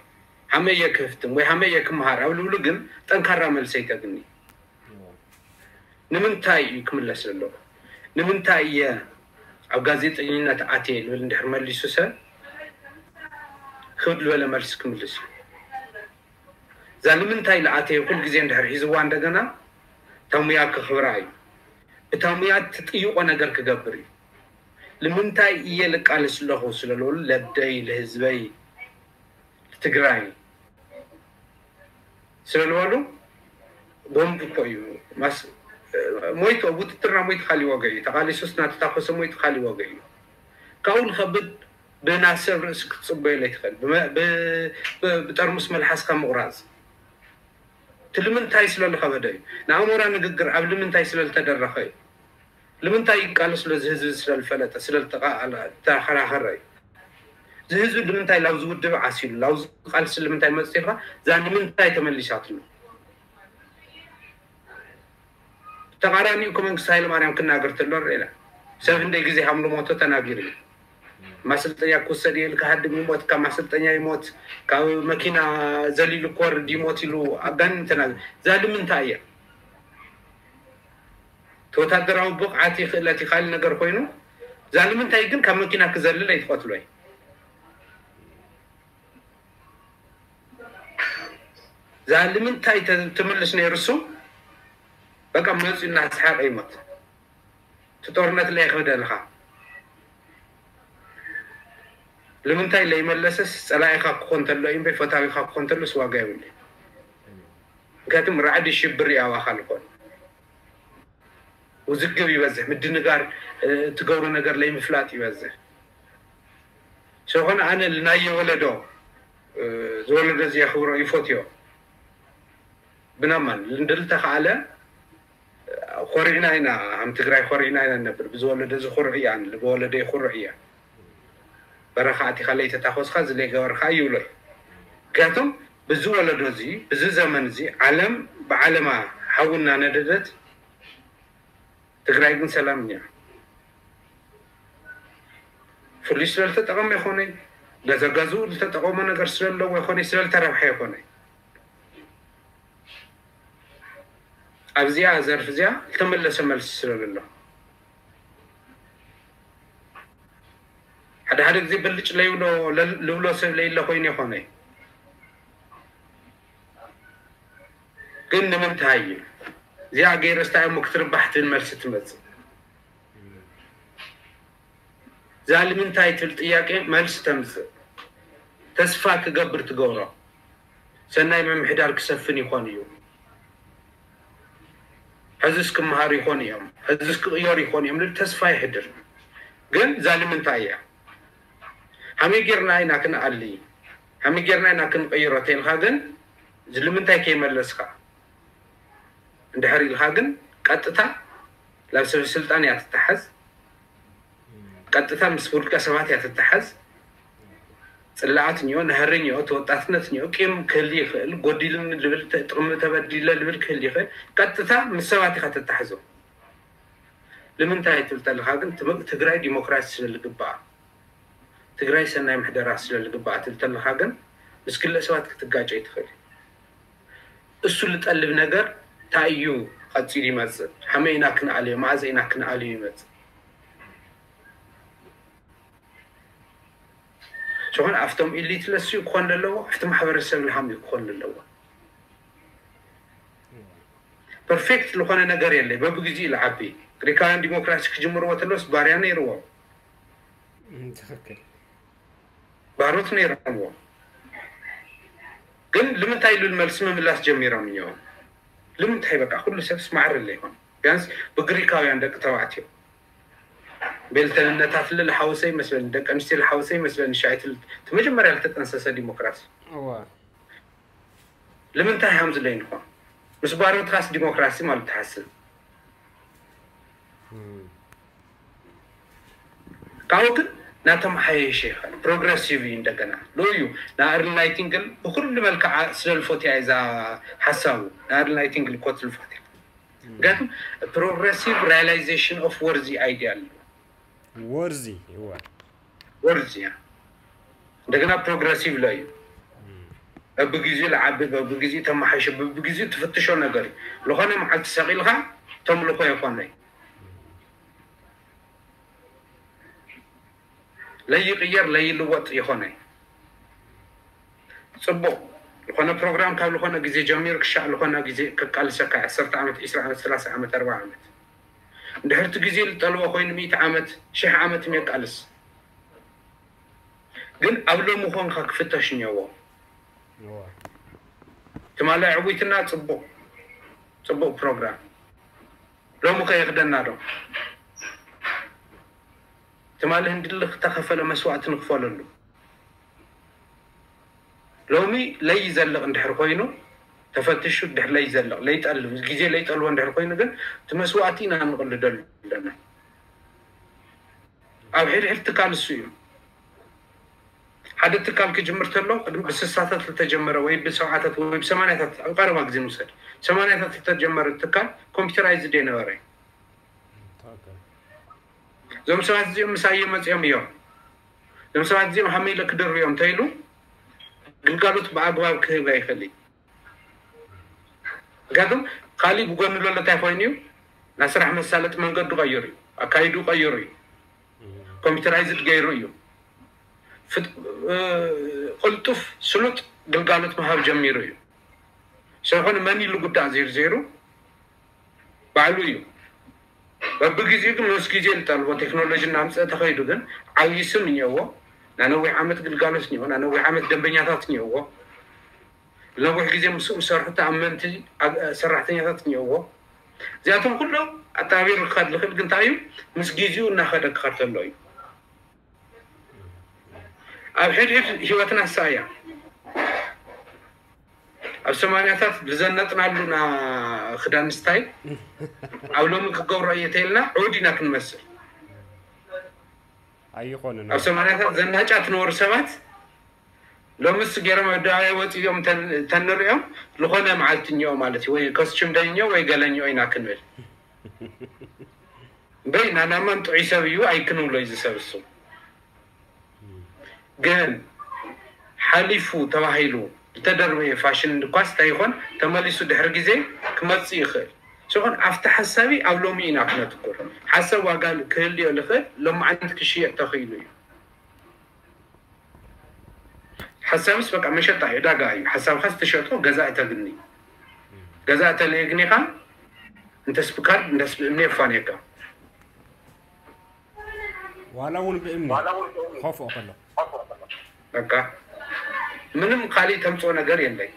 ሓመይ እየ ክህፍትም ወይ ሓመይ እየ ክምሃር ኣብ ልብሉ ግን ጠንካራ መልሰ ይተግኒ። ንምንታይ እዩ ክምለስ ዘለዎ? ንምንታይ እየ ኣብ ጋዜጠኝነት ኣትየ ልብል እንድሕር መሊሱ ሰብ ክብድ ዝበለ መልሲ ክምልስ እዩ። እዛ ንምንታይ ልኣተየ ኩል ግዜ እንድሕር ሒዝዋ እንደገና እታ ሙያ ክኽብራ እዩ። እታ ሙያ ትጥይቆ ነገር ክገብር እዩ። ንምንታይ እየ ልቃለስ ኣለኹ ስለልበሉ ለደይ ልህዝበይ ልትግራይ ስለልበሉ ቦምብ እኮ እዩ ማስ ሞይቱ ኣብ ውትድርና ሞይቱ ካሊ ዋጋ እዩ። ተቃሊሱስ እናተታኮሰ ሞይቱ ካሊ ዋጋ እዩ። ካብኡ ንኸብድ ብናሰብ ርእሲ ክትፅበዮ ለይትኽእል ብጠርሙስ መልሓስካ ምቑራፅ እቲ ልምንታይ ስለልኸበደ እዩ። ንኣሞራ ንግግር ኣብ ልምንታይ ስለልተደረኸ እዩ። ልምንታይ ይቃለስ ሎ እዚ ህዝቢ ስለልፈለጠ ስለልተኸራኸረ እዩ። እዚ ህዝቢ ልምንታይ ላብዚ ውድብ ዓሲሉ ላብዚ ቃልሲ ልምንታይ መፅቲልካ እዛ ንምንታይ ተመሊሳትሉ? ተቃራኒኡ ከመንግስቲ ሃይለማርያም ክናገር ተሎ ርኢና ሰብ እንደይ ግዜ ሃምሉ ሞቶ ተናጊሩ እዩ። ማሰልጠኛ ክውሰድ ይል ክሃድም ይሞት ካብ ማሰልጠኛ ይሞት ካብ መኪና ዘሊሉ ክወርድ ይሞት ኢሉ ኣጋኒን ተናጊሩ። እዛ ልምንታይ እያ? ተወታደራዊ ብቕዓት ይኽእለት ይኻል ነገር ኮይኑ እዛ ልምንታይ ግን ካብ መኪና ክዘልል ኣይትቐትሎ እዩ። እዛ ልምንታይ ትምልስ ነይሩ እሱ በቃ መፂኡ እናሰሓቀ ይሞት። እቲ ጦርነት ለይ ክብደልኻ ልምንታይ ለይመለሰስ ፀላኢኻ ክኾን ተሎ እዩ እምበይ ፈታዊኻ ክኾን ተሎስ ዋጋ የብሉ። ምክንያቱም ራዕዲ ሽብር ያዋኻ ልኾን ውዝግብ ይበዝሕ፣ ምድንጋር ትገብሮ ነገር ለይምፍላጥ ይበዝሕ። ስለኾነ ኣነ ልናየ ወለዶ ዝወለዶ እዚ የኽብሮ ይፎትዮ። ብናማን ልንድልተኸኣለ ኮሪዕና ኢና ከም ትግራይ ኮሪዕና ኢና ነብር ብዝወለዶ እዚ ኩርዕ እያ ብወለዶ ይኩርዕ እያ። በረኻ ኣቲኻ ለይተታኮስካ እዚ ለይገበርካ ይብሎ እዩ። ምክንያቱም ብዚ ወለዶ እዚ ብዚ ዘመን እዚ ዓለም ብዓለማ ሓዊ እናነደደት ትግራይ ግን ሰላም እያ። ፍሉይ ስለልተጠቐመ ይኾነ ገዛ ገዝኡ ዝተጠቐሞ ነገር ስለለዎ ይኾነ፣ ስለልተረብሐ ይኾነ። ኣብዚኣ ዘርፍ እዚኣ ዝተመለሰ መልሲ ስለለሎ፣ ሓደ ሓደ ግዜ ብልጭ ለይብሎ፣ ለል-፣ ልብሎ ሰብ ለይለ ኮይኑ ይኾነ። ግን ንምንታይ እዩ እዚኣ ገይረስ እንታይ እሞ ክትርባሕ ትብል መልሲ ትመጽእ? እዛ ንምንታይ ትብል ጥያቄ መልሲ ተምጽእ። ተስፋ ክገብር ትገብሮ። ሰናይ ምምሕዳር ክሰፍን ይኾን እዩ። ሕዝስ ክመሃሩ ይኾኑ እዮም። ሕዝስ ክቕየሩ ይኾኑ እዮም ልብል ተስፋ ይሕድር። ግን እዛ ንምንታይ እያ? ሃመይ ጌርና ኢና ክንኣሊ? ሃመይ ጌርና ኢና ክንቕይሮ? ተይልካ ግን እዚ ንምንታይ ከይመለስካ? እንድሕር ኢልካ ግን ቀጥታ ናብ ሰብ ስልጣን እያ ትተሓዝ። ቀጥታ ምስ ውልቀ ሰባት እያ ትተሓዝ። ጽላኣት እኒኦ፣ ናህሪ እኒኦ፣ ተወጣትነት እኒኦ፣ ቂም ክህል ይኽእል፣ ጎዲልኒ ልብል፣ ተ-፣ ጥቕሚ ተበዲለ ልብል ክህል ይኽእል። ቀጥታ ምስ ሰባት ኢኻ ተተሓዞ። ንምንታይ ትብል ተለኻ ግን ትም-፣ ትግራይ ዲሞክራሲ ስለ ዝግባኣ፣ ትግራይ ሰናይ ምሕደራ ስለ ዝግባኣ ትብል ተለኻ ግን ምስ ግለ ሰባት ክትጋጨ ይትኽእል። እሱ ልጠልብ ነገር እንታይ እዩ ቀጺሉ ይመጽእ? ሓመይ ኢና ክንኣልዮ፣ መኣዘ ኢና ክንኣልዮ ይመጽእ? ዝኾነ ኣብቶም ኢሊት ለስዩ ክኾን ኣለዎ፣ ኣብቲ ማሕበረሰብ ልሃም እዩ ክኾን ኣለዎ። ፐርፌክት ዝኾነ ነገር የለ፣ በብግዚኡ ልዓቢ። ግሪካውያን ዲሞክራሲ ክጅምርዎ ተለውስ ባርያ ነይርዎም፣ እም፣ ትኽክል። ባሮት ነይረምዎም። ግን ልምንታይ ኢሉ መልሲ ምምላስ ጀሚሮም እዮም። ልምንታይ በቃ ኩሉ ሰብስ ማዕረ ኣለይኮን። ቢያንስ ብግሪካውያን ደቂ ተባዕትዮ ቤልተንነታት ልል ሓወሰ ይመስለኒ፣ ደቂ ኣንስትዮ ልሓወሰ ይመስለኒ፣ ሻይት ል-፣ እቲ መጀመርያ ልተጠንሰሰ ዲሞክራሲ። እዋ። ልምንታይ ሃምዚ ለይንኾን? ምስ ባሮትኻስ ዲሞክራሲ ማለት ትሓስብ? እም። ካብኡ ግን ናተመሓየሸ ይኸል ፕሮግረሲቭ እዩ። እንደገና ሎዩ ንኣርል ናይቲንግል ብኩሉ መልክዓ ስለ ልፎትያ እዛ ሓሳቡ ንኣርል ናይቲንግል ኮት ልፎትያ። ምክንያቱም ፕሮግረሲቭ ሪያላይዜሽን ኦፍ ወርዚ ኣይዲያ ኣሎ። ወርዚ እዋ። ወርዚ እያ። እንደገና ፕሮግረሲቭ ሎ እዩ። በብግዚኡ ልዓቢ፣ በብግዚኡ ተመሓይሸ፣ በብግዚኡ ትፍትሾ ነገር እዩ። ዝኾነ መዓልቲ ሰቒልካ ተምልኾ ይኾነ እዩ። ለይቕየር ለይልወጥ ይኾነ እዩ። ጽቡቕ ዝኾነ ፕሮግራም ካብ ዝኾነ ግዜ ጀሚሩ ክሻዕ ዝኾነ ግዜ ከቃልሰካ እዩ። ዓሰርተ ዓመት፣ ዕስራ ዓመት፣ ሰላሳ ዓመት፣ ኣርባዓ ዓመት። እንድሕርቲ ግዜ ዝጠልቦ ኮይኑ ሚእቲ ዓመት፣ ሽሕ ዓመት የቃልስ። ግን ኣብ ሎሚ ኮንካ ክፍተሽ እኒኦዎ። እዋ። ትማሊ ዕዊትና ጽቡቕ፣ ጽቡቕ ፕሮግራም። ሎሚ ከ ይኽደና ዶ? ትማሊ ህንድሊ ዝተኸፈለ መስዋእቲ ንክፈለሉ። ሎሚ ለይዘልቕ እንድሕር ኮይኑ፣ ተፈቲሹ እንድሕር ለይዘልቕ፣ ለይጠልብ፣ ግዜ ለይጠልቦ እንድሕር ኮይኑ ግን፣ እቲ መስዋእቲ ኢና ንቕልደሉ ኣለና። ኣብ ሕድሕድ ትካል እሱ እዩ። ሓደ ትካል ክጅምር ተሎ፣ ቅድሚ ብስሳታት ዝተጀመረ ወይ ብሰብዓታት ወይ ብሰማንያታት ኣብ ቀረባ ግዜ ንውሰድ። ሰማንያታት ዝተጀመረ ትካል ኮምፒውተራይዝድ የነበረ። እዞም ሰባት እዚኦም ምሳይ መፂኦም እዮም። እዞም ሰባት እዚኦም ሃመይ ኢለ ክድርብዮም እንተኢሉ ግልጋሎት ብኣግባብ ክህብ ኣይኽእል እዩ። ምክንያቱም ካሊእ ብጎኒ ዘሎ እንታይ ኮይኑ እዩ? ናይ ስራሕ መሳለጢ መንገዱ ቀይሩ እዩ። ኣካይዱ ቀይሩ እዩ። ኮምፒውተራይዝድ ገይሩ እዩ። ፍጥ-፣ እ፣ ቅልጡፍ ስሉጥ ግልጋሎት ምሃብ ጀሚሩ እዩ። ስለኾነ መን ኢሉ ጉዳእ ዜርዜሩ ባዕሉ እዩ። በብግዜኡ ግን ምስ ግዜ ዝጠልቦ ቴክኖሎጂ እናምፀ ተኸይዱ ግን ዓብዪ ስም እኒኦዎ። ናይ ነዊሕ ዓመት ግልጋሎት እኒኦዎ። ናይ ነዊሕ ዓመት ደንበኛታት እኒኦዎ። ነዊሕ ግዜ ምስኡ ዝሰርሑ ተኣመንቲ ኣብ-፣ ሰራሕተኛታት እኒኦዎ። እዚኣቶም ኩሎም ኣተባቢሩ ክኸድ ዝኽእል ግን እንታይ እዩ? ምስ ግዜኡ እናኸደ ክኸድ ከሎ እዩ። ኣብ ሕድሕድ ህይወትና እሳ እያ። ኣብ ሰማንያታት ዝዘነጥናሉ ና ክዳን ስታይል ኣብ ሎሚ ክገብሮ እየ ተይልና ዕውድ ኢና ክንመስል። ኣይኾንን። ኣብ ሰማንያታት ዘናጫ ትነበሩ ሰባት ሎምስ ገይሮም ኣደባባይ ወፂኦም ተን-፣ ተንሪኦም ዝኾነ መዓልቲ እኒኦ ማለት እዩ። ወይ ኮስቹም ደኝኦ ወይ ገለኝኦ ኢና ክንብል። እምበይ ናናማን ጥዑይ ሰብ እዩ ኣይክንብሎ እዩ ዝሰብ እሱ። ግን ሓሊፉ ተባሂሉ ዝተደርበየ ፋሽን ድኳስ እንታይ ይኾን ተመሊሱ ድሕሪ ግዜ ክመጽእ ይኽእል። ሲኾን ኣብቲ ሓሳቢ ኣብ ሎሚ ኢና ክነትኩር። ሓሳብ ዋጋ ክህልዮ ዝኽእል ሎማዓንቲ ክሽየጥ ተኽኢሉ እዩ። ሓሳብስ በቃ መሸጣ እዩ፣ ዕዳጋ እዩ። ሓሳብካ ዝተሸጦ ገዛኢ ተግኒ። ገዛኢ ተለየግኒኻ እንተስ ብካርድ እንተስ ብእምኒ የፋንየካ። ዋላ እውን ብእምኒ ኮፍኦ ከሎ በቃ ምንም ካሊእ ተምፅኦ ነገር የለይ።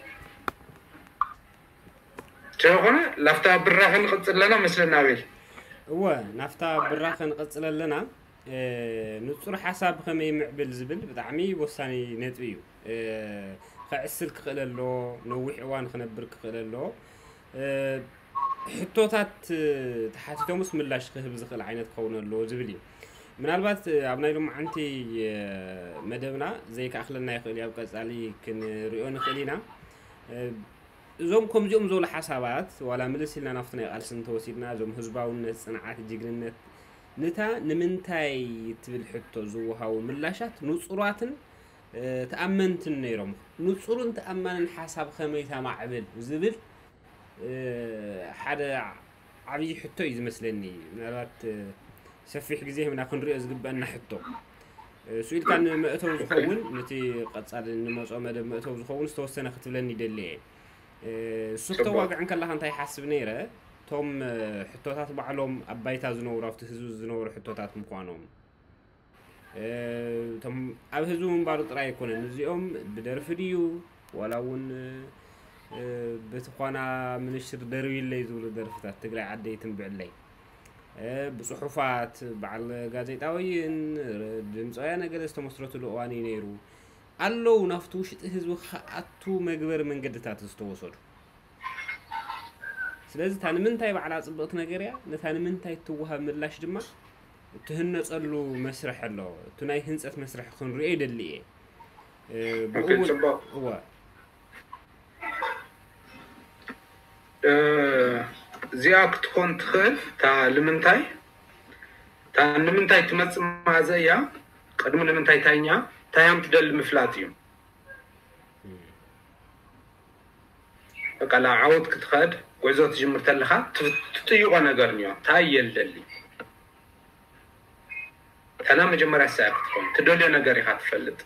ስለኾነ ላፍታ ብራኸ ንቕፅል ኣለና መስለና ኣቤል። እወ ናፍታ ብራኸ ንቐፅል ኣለና። ንፁር ሓሳብ ብኸመይ ምዕብል ዝብል ብጣዕሚ ወሳኒ ነጥቢ እዩ። ከዕስል ክኽእል ኣሎ፣ ነዊሕ እዋን ክነብር ክኽእል ኣሎ። ሕቶታት ተሓቲቶምስ ምላሽ ክህብ ዝኽእል ዓይነት ክኸውን ኣለዎ ዝብል እዩ። ምናልባት ኣብ ናይ ሎማዓንቲ መደብና ዘይከኣኽለና ይኽእል እዩ፣ ኣብ ቀፃሊ ክንሪኦ ንኽእል ኢና። እዞም ከምዚኦም ዝበሉ ሓሳባት ዋላ ምልስ ኢልና ናብቲ ናይ ቃልሲ እንተወሲድና እዞም ህዝባውነት፣ ፅንዓት፣ ጅግንነት ንታ ንምንታይ ትብል ሕቶ ዝወሃቡ ምላሻት ንፁራትን ተኣመንትን ነይሮም። ንፁርን ተኣማንን ሓሳብ ከመይ ተማዕብል ዝብል ሓደ ዓብዪ ሕቶ እዩ ዝመስለኒ። ምናልባት ሰፊሕ ግዜ ህብና ክንሪኦ ዝግበአና ሕቶ እሱ ኢልካ ንመእተው ዝኸውን ነቲ ቀፃሊ ንመፅኦ መደብ መእተው ዝኸውን ዝተወሰነ ክትብለኒ ይደሊ እየ። እሱ ክተዋግዕ እንከለካ እንታይ ሓስብ ነይረ? እቶም ሕቶታት ባዕሎም ኣብ ባይታ ዝነብሩ ኣብቲ ህዝቢ ዝነብሩ ሕቶታት ምኳኖም እቶም ኣብ ህዝቢ ምንባሩ ጥራይ ኣይኮነን። እዚኦም ብደርፊ ድዩ ዋላ እውን በቲ ኳና ምንሽር ደርብይለይ ዝብሉ ደርፍታት ትግራይ ዓደይ ትንብዕለይ ብፅሑፋት በዓል ጋዜጣ ወይን ድምፂ ወያነ ገለ ዝተመስረትሉ እዋን እዩ ነይሩ። ኣለዉ ናብቲ ውሽጢ ህዝቢ ክኣቱ መግበሪ መንገድታት ዝተወሰዱ። ስለዚ እታ ንምንታይ ባዕላ ፅብቕቲ ነገር እያ፣ ነታ ንምንታይ እትወሃብ ምላሽ ድማ እትህነፀሉ መስርሕ ኣሎ። እቲ ናይ ህንፀት መስርሕ ክንሪኦ ይደሊ እየ። ብኡ እውን ፅቡቅ እወ እዚኣ ክትኮን ትኽእል እታ ንምንታይ እታ ንምንታይ ትመፅእ ማዘ እያ። ቅድሚ ንምንታይ ታይኛ ታያም ትደሊ ምፍላጥ እዩ። በቃ ናብ ዓወት ክትኸድ ጉዕዞ ትጅምር ተለኻ ትጥይቆ ነገር እኒኦ። ታይ እየ ልደሊ? ተና መጀመርያ ሳያ ክትኮን ትደልዮ ነገር ኢኻ ትፈልጥ።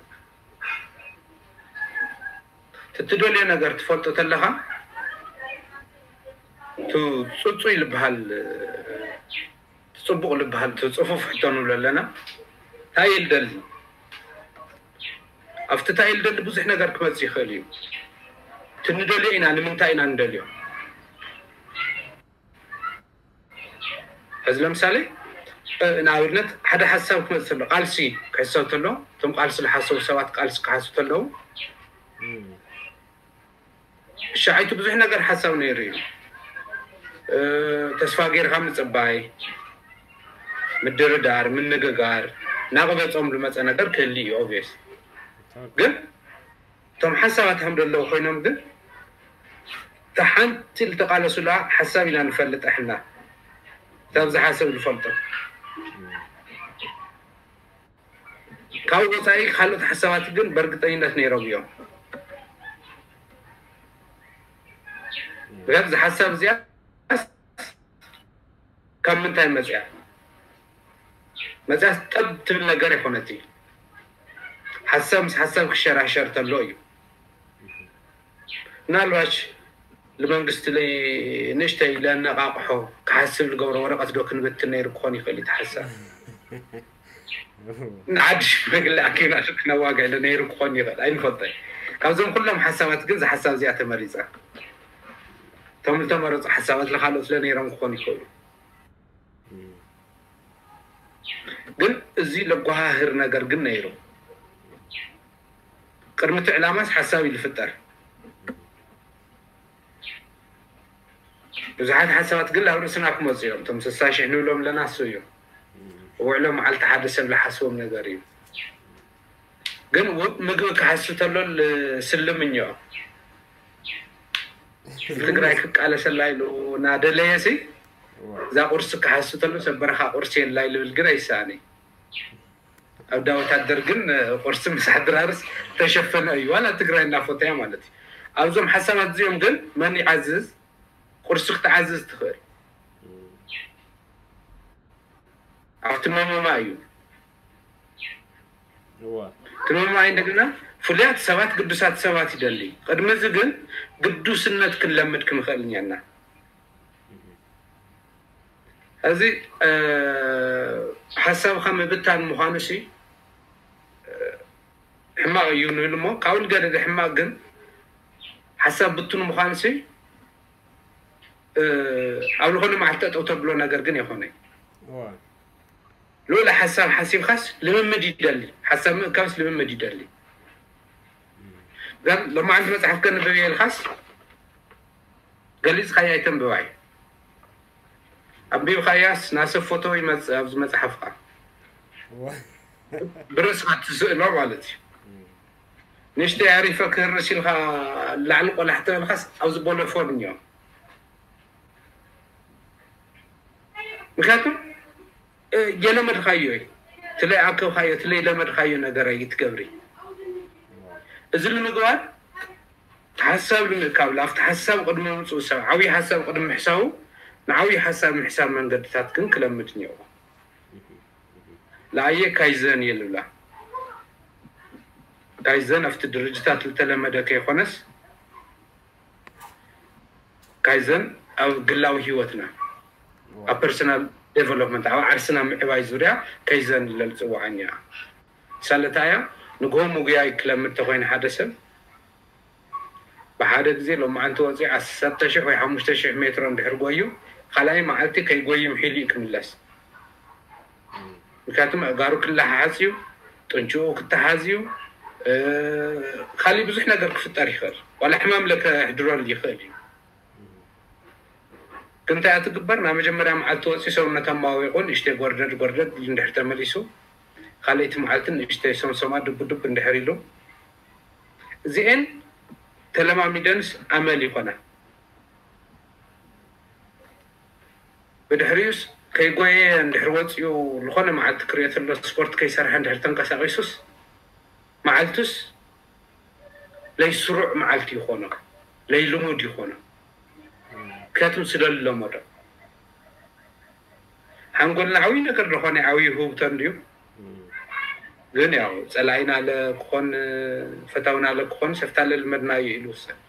ትትደልዮ ነገር ትፈልጦ ተለኻ ቱ ፅፁይ ልበሃል፣ ፅቡቕ ልበሃል፣ ቱ ፅፉፍ ሕቶ ንብሎ ኣለና። ታይ እየ ልደሊ? ኣብቲ ታይ ልደሊ ብዙሕ ነገር ክመፅእ ይኽእል እዩ። ትንደልዮ ኢና ንምንታይ ኢና ንደልዮ? ሕዚ ለምሳሌ ንኣብነት ሓደ ሓሳብ ክመፅእ ተሎ ቃልሲ ክሕሰብ ተሎ እቶም ቃልሲ ዝሓሰቡ ሰባት ቃልሲ ክሓሱ ተለዉ ሻዒቱ ብዙሕ ነገር ሓሳብ ነይሩ እዩ። ተስፋ ገይርካ ምፅባይ፣ ምድርዳር፣ ምንግጋር ናቕበፆም ዝመፀ ነገር ክህሊ እዩ ኦብስ ግን እቶም ሓሳባት ከም ዘለዉ ኮይኖም ግን እታ ሓንቲ ዝተቃለሱላ ሓሳብ ኢና ንፈልጥ ኣሕና እታ ብዝሓሰብ ዝፈልጦ ካብ ወፃኢ ካልኦት ሓሳባት ግን በእርግጠኝነት ነይሮም እዮም። ምክንያቱ ዝሓሳብ እዚኣ ካብ ምንታይ መፅያ መፅያ ጠብ ትብል ነገር ይኮነት። ሓሳብ ምስ ሓሳብ ክሸራሸር ተሎ እዩ። ምናልባሽ ንመንግስቲ ንእሽተይ ለነቃቅሖ ክሓስብ ዝገብሮ ወረቀት ዶ ክንብትን ነይሩ ክኾን ይኽእል እዩ። ሓሳብ ንዓዲ ሽማግለ ኣኪብና ክነዋግዕ ነይሩ ክኾን ይኽእል ኣይንፈልጠ። ካብዞም ኩሎም ሓሳባት ግን ዝሓሳብ እዚኣ ተመሪፃ እቶም ዝተመረፁ ሓሳባት ለካልኦት ለነይሮም ክኾኑ ይኽእሉ። ግን እዚ ለጓሃህር ነገር ግን ነይሩ። ቅድሚ እቲ ዕላማስ ሓሳብ እዩ ዝፍጠር። ብዙሓት ሓሳባት ግን ኣብ ርእስና ክመፁ እዮም። እቶም ስሳ ሽሕ ንብሎም ኣለና እሱ እዩ ውዕሎ መዓልቲ ሓደ ሰብ ዝሓስቦም ነገር እዩ። ግን ምግቢ ክሓሱ ተሎ ስልምኞ ትግራይ ክቃለሰላ ኢሉ እናደለየ ሲ እዛ ቁርሲ ክሓሱ ተሎ ሰብ በረኻ ቁርሲ የላ ልብል ግን ኣይሰኣኒ። ኣብ ዳ ወታደር ግን ቁርሲ ምሳሕ ድራርስ ተሸፈነ እዩ። ዋላ ትግራይ እናፎተያ ማለት እዩ። ኣብዞም ሓሳባት እዚኦም ግን መን ይዓዝዝ? ቁርሲ ክትዓዝዝ ትኽእል። ኣብቲ መመማ እዩ። ትመማይ እንደገና ፍሉያት ሰባት፣ ግዱሳት ሰባት ይደሊ። ቅድሚ እዚ ግን ግዱስነት ክንለምድ ክንኽእል እኛና። እዚ ሓሳብካ ምብታን ምዃኑ ሲ ሕማቕ እዩ ንብል እሞ፣ ካብኡ ንገደደ ሕማቕ ግን ሓሳብ ብቱን ምዃኑ ሲ ኣብ ዝኾነ መዓልቲ ጠጠው ተብሎ ነገር ግን የኾነ። ልኡለ ሓሳብ ሓሲብካስ ልምምድ ይደሊ። ሓሳብ ምእካብስ ልምምድ ይደሊ። ግን ሎማዓንቲ መፅሓፍ ከንብብ የልካስ ገሊፅካያ ኣይተንብባይ። ኣንቢብካያስ ናሰብ ፎቶ ይመፅእ ኣብዚ መፅሓፍካ። ብርእስካ ትስእሎ ማለት እዩ። ንእሽተይ ኣሪፈ ክህርስ ኢልካ ላዕሊ ቆላሕ ተበልካስ ኣብዚ ቦለፎን እኒኦ። ምክንያቱ የለመድካዮ እዩ። ትለይ ኣከብካዮ ትለይ ለመድካዮ ነገር ኣይትገብሪ። እዚ ንምግባር ሓሳብ ንምእካብ ኣብቲ ሓሳብ ቅድሚ ምፅኡ ሰብ ዓብዪ ሓሳብ ቅድሚ ምሕሳቡ ንዓብዪ ሓሳብ ምሕሳብ መንገድታት ግን ክለምድ እኒኦ። ለኣየ ካይዘን የልብላ። ካይዘን ኣብቲ ድርጅታት ዝተለመደ ከይኮነስ ካይዘን ኣብ ግላዊ ህይወትና ኣብ personal development ኣብ ዓርስና ምዕባይ ዙርያ ካይዘን ኢለ ዝፅውዓን እያ። ሳለታ እያ ንግሆ ምጉያይ ክለምድ ተኮይነ ሓደ ሰብ ብሓደ ግዜ ሎማዓንቲ ወፂኡ ዓሰርተ ሺሕ ወይ ሓሙሽተ ሺሕ ሜትሮ እንድሕር ጎዩ ካልኣይ መዓልቲ ከይጎዩ ምሒሉ እዩ ክምለስ። ምክንያቱም ኣእጋሩ ክለሓሓፅ እዩ፣ ጥንችኡ ክተሓዝ እዩ፣ ካሊእ ብዙሕ ነገር ክፍጠር ይኽእል። ዋላ ሕማም ለከሕድረሉ ይኽእል እዩ። ግን እንታይ እያ ትግበር? ናብ መጀመርያ መዓልቲ ወፂኡ ሰውነት ኣማዊቑ ንእሽተይ ጎርደድ ጎርደድ ኢሉ እንድሕር ተመሊሱ ካልኣይቲ መዓልቲ ንእሽተይ ሶምሶማ ድብ ድብ እንድሕር ኢሉ እዚኤን ተለማሚደንስ ኣመል ይኾና። ብድሕሪኡስ ከይጎየ እንድሕር ወፂኡ ዝኾነ መዓልቲ ክሪኦ ተሎ ስፖርት ከይሰርሐ እንድሕር ተንቀሳቒሱስ መዓልቱስ ለይስሩዕ መዓልቲ ይኾኖ ለይልሙድ ይኾኖ። ምክንያቱም ስለልለመዶ ሓንጎልና ዓብዪ ነገር ዝኾነ ዓብዪ ህውብቶ እንድዩ። ግን ያው ፀላኢና ለ ክኾን ፈታውና ለ ክኾን ሰፍታ ለልመድና እዩ ኢሉ ውሰን።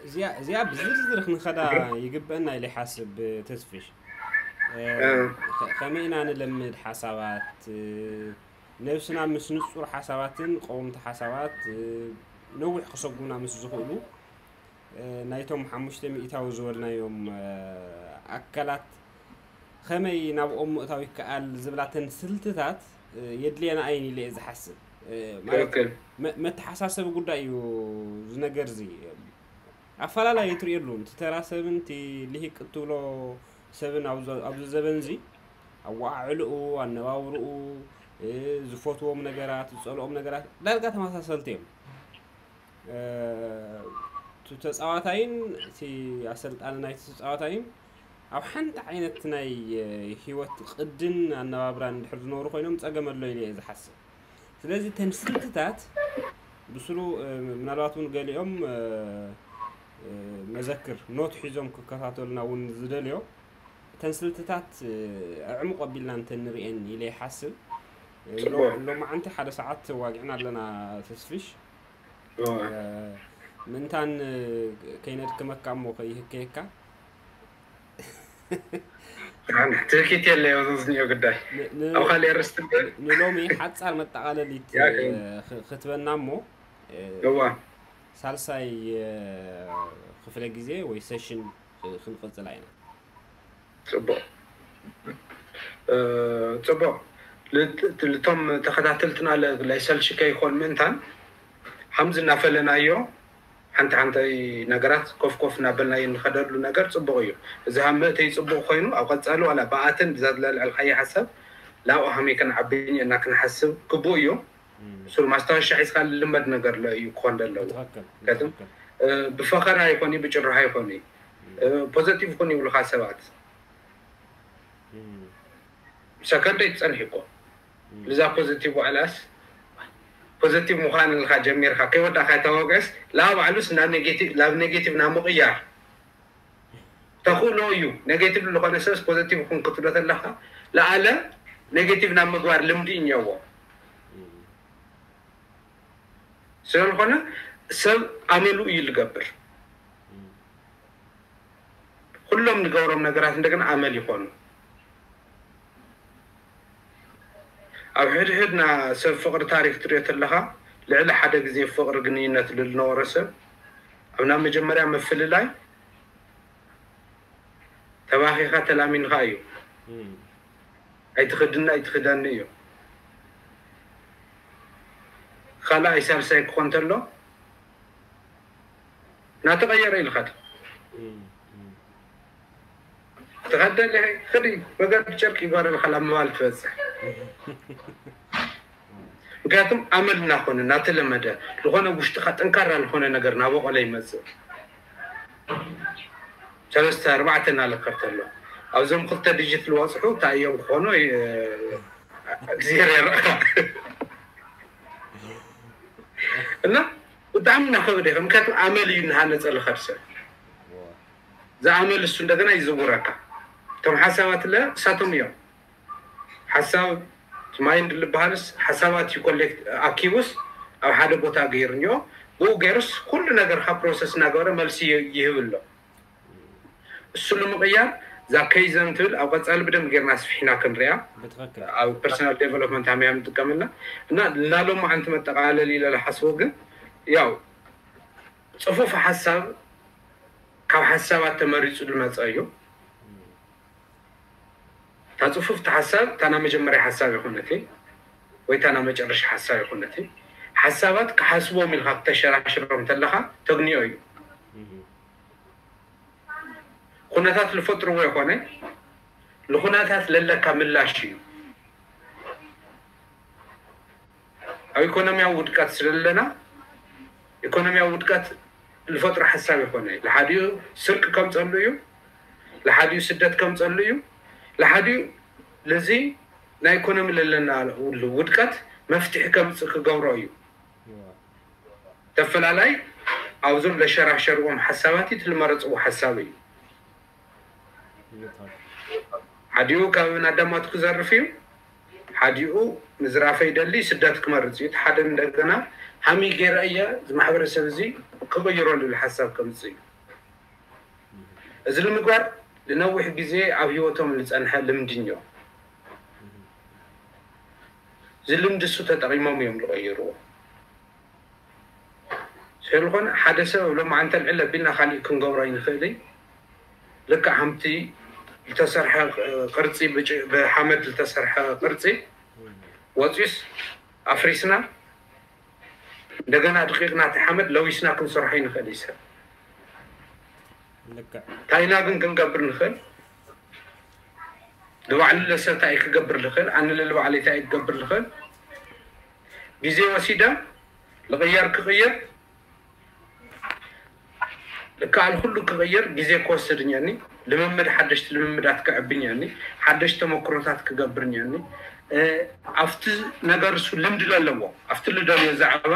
እዚኣ ብዝርዝር ክንኸዳ ይግበአና ኢለ ይሓስብ። ተስፍሽ ከመይ ኢና ንለምድ ሓሳባት ነብስና ምስ ንፁር ሓሳባትን ቀውምቲ ሓሳባት ነዊሕ ክሰጉምና ምስ ዝኽእሉ ናይቶም ሓሙሽተ ሚእታዊ ዝበልናዮም ኣካላት ከመይ ናብኦም ምእታው ይከኣል ዝብላተን ስልትታት የድልየና ኣየን ኢለ እየ ዝሓስብ። መተሓሳሰቢ ጉዳይ እዩ ዝነገር እዚ። ኣፈላላይ ትርእየሉ እቲ ተራ ሰብን እቲ ልሂቅ እትብሎ ሰብን ኣብዚ ዘበን እዚ ኣወዓዕልኡ፣ ኣነባብርኡ፣ ዝፈትዎም ነገራት፣ ዝፀልኦም ነገራት ዳርጋ ተመሳሰልቲ እዮም። እቲ ተፃዋታይን እቲ ኣሰልጣኒ ናይቲ ተፃዋታይን ኣብ ሓንቲ ዓይነት ናይ ህይወት ቅድን ኣነባብራን እንድሕር ዝነብሩ ኮይኖም ፀገም ኣሎ ኢለ እየ ዝሓስብ። ስለዚ እተን ስልትታት ብስሩ ምናልባት እውን ገሊኦም መዘክር ኖት ሒዞም ክከታተሉና እውን ዝደልዮ እተን ስልትታት ኣዕሙቕ ኣቢልና እንተንርእየን ኢለ ይሓስብ። ሎማዓንቲ ሓደ ሰዓት ተዋጊዕና ኣለና ተስፍሽ። ምእንታን ከይነድክመካ እሞ ከይህከየካ ትህኪት የለ ዝኒኦ ጉዳይ ኣብ ካልእ ርስት ንሎሚ ሓፃር መጠቃለሊት ክትበና እሞ እዋ ሳልሳይ ክፍለ ግዜ ወይ ሴሽን ክንቅፅላ ኢና። ፅቡቅ ፅቡቅ ልቶም ተኸታተልትና ላይሰልችከ ይኾን ምእንታን ሓምዚ እናፈለናዮ ሓንቲ ሓንቲ ነገራት ኮፍ ኮፍ እናበልና እንኸደሉ ነገር ፅቡቅ እዩ። እዚ ሃመእተይ ፅቡቅ ኮይኑ ኣብ ቀፃሊ ዋላ ብኣትን ብዛ ዝለልዐልካዮ ሓሳብ ላብኡ ሃመይ ከነዓብኝ እና ክንሓስብ ግቡእ እዩ። ስሩ ማስታወሻ ሒዝካ ልመድ ነገር ለ እዩ ክኾን ዘለዎ። ትኽክል ምክንያቱም ትኽክል። ብፈኸራ ይኾን ብጭርሃ ይኾን ፖዘቲቭ ኩን ይብሉካ ሰባት ሰከንደይ ትፀንሕ እኮ ብዛ ፖዚቲቭ ዋዕላስ ፖዚቲቭ ምዃን ኢልካ ጀሚርካ ከይወዳእካ ተወገስ ላ ባዕሉስ ናብ ኔጌቲቭ ናብ ኔጌቲቭ ናብ ምቕያር ተኽእሎ እዩ። ኔጌቲቭ ዝኾነ ሰብስ ፖዚቲቭ ኹን ክትብሎ ተለካ ለኣለ ኔጌቲቭ ናብ ምግባር ልምዲ እኛዎ ስለዝኾነ ሰብ ኣመሉ እዩ ዝገብር። ኩሎም ንገብሮም ነገራት እንደገና ኣመል ይኾኑ። ኣብ ሕድሕድና ሰብ ፍቕሪ ታሪክ ትሪኦ ተለኻ ልዕሊ ሓደ ግዜ ፍቕሪ ግንኙነት ዝነበሮ ሰብ ኣብ ናብ መጀመርያ ምፍልላይ ተባኺኻ ተላሚንካ እዩ። ኣይትኽድና ኣይትኽደኒ እዩ። ካልኣይ ሳልሳይ ክኾን ተሎ ናተቐየረ ኢልካ ትኸደለ ክዲ መገዲ ጨርቂ ይጓረልካ ላብ ምባል ትበፅሕ። ምክንያቱም ኣመል እናኾነ እናተለመደ ዝኾነ ውሽጥካ ጠንካራ ዝኾነ ነገር ናበቆለ ይመፅእ። ሰለስተ ኣርባዕተ እናለከር ተሎ ኣብዞም ክልተ ድጅት ዝወፅሑ እንታይ እዮም ክኾኑ እግዚኣብሔር የርኣኻ። እና ብጣዕሚ እናኸበደ ይኸ ምክንያቱም ኣመል እዩ እናሃነፀ ዝኸድ ሰብ ዝኣመል እሱ እንደገና ይዝውረካ። እቶም ሓሳባት ለ እሳቶም እዮም ሓሳብ ማይንድ ልበሃልስ ሓሳባት እዩ ኮሌክት ኣኪቡስ ኣብ ሓደ ቦታ ገይሩ እኒኦ ብኡ ገይሩስ ኩሉ ነገር ካብ ፕሮሰስ እናገበረ መልሲ ይህብ ኣሎ። እሱ ንምቕያር እዛ ከይዘን ትብል ኣብ ቀፃሊ ብደንብ ጌርና ኣስፊሕና ክንሪኣ ብትኽክል ኣብ ፐርሰናል ዴቨሎፕመንት ሃመያ ንጥቀመላ እና ናሎም ዓንቲ መጠቃለል ኢለ ዝሓስቦ ግን ያው ፅፉፍ ሓሳብ ካብ ሓሳባት ተመሪፁ ዝመፀ እዩ። እታ ፅፉፍቲ ሓሳብ እታ ናይ መጀመርያ ሓሳብ ይኮነቲ ወይ እታ ናይ መጨረሻ ሓሳብ ይኮነቲ። ሓሳባት ክሓስቦም ኢልካ ክተሸራሽሮም ተለካ ተግንዮ እዩ። ኩነታት ዝፈጥርዎ ይኮነ ንኩነታት ለለካ ምላሽ እዩ። ኣብ ኢኮኖሚያዊ ውድቀት ስለለና ኢኮኖሚያዊ ውድቀት ዝፈጥሮ ሓሳብ ይኮነ። ለሓዲኡ ስርቂ ከምፀሉ እዩ፣ ለሓዲኡ ስደት ከምፀሉ እዩ፣ ለሓዲኡ ለዚ ናይ ኢኮኖሚ ለለና ውድቀት መፍትሒ ከምፅእ ክገብሮ እዩ። ተፈላላይ ኣብዞም ለሸራሸርዎም ሓሳባት እቲ ልመረፅዎ ሓሳብ እዩ። ሓዲኡ ካብ ናዳማቱ ክዘርፍ እዩ፣ ሓዲኡ ምዝራፈ ይደሊ ስደት ክመርፅ እዩ። እቲ ሓደ እንደገና ሃሚ ገይረ እየ እዚ ማሕበረሰብ እዚ ክቕይሮ ልብል ሓሳብ ከምፅ እዩ። እዚ ንምግባር ንነዊሕ ግዜ ኣብ ህይወቶም ዝፀንሐ ልምዲ እኒኦ። እዚ ልምዲ እሱ ተጠቒሞም እዮም ዝቐይርዎ። ስለዝኾነ ሓደ ሰብ ኣብ ሎማዓንቲ ኣልዕል ኣቢልና ካሊእ ክንገብሮ ኣይንኽእልን። ልክዕ ከምቲ ዝተሰርሐ ቅርፂ ብሓመድ ዝተሰርሐ ቅርፂ ወፂኡስ ኣፍሪስና እንደገና ድቂቕና እቲ ሓመድ ለዊስና ክንሰርሖ ይንኽእል እዩ ሰብ። ታይና ግን ክንገብር ንኽእል ንባዕሉ ለሰብ እንታይ ክገብር ንኽእል ኣነ ለልባዕለይ እንታይ ክገብር ንኽእል ግዜ ወሲደ ልቕየር ክቕየር ልከኣል ኩሉ ክቕየር ግዜ ክወስድ እኛኒ። ልምምድ ሓደሽቲ ልምምዳት ክዕብኛኒ ሓደሽቲ ተመክሮታት ክገብርኛኒ። ኣብቲ ነገር እሱ ልምዲ ለለዎ ኣብቲ ልደልዮ ዛዕባ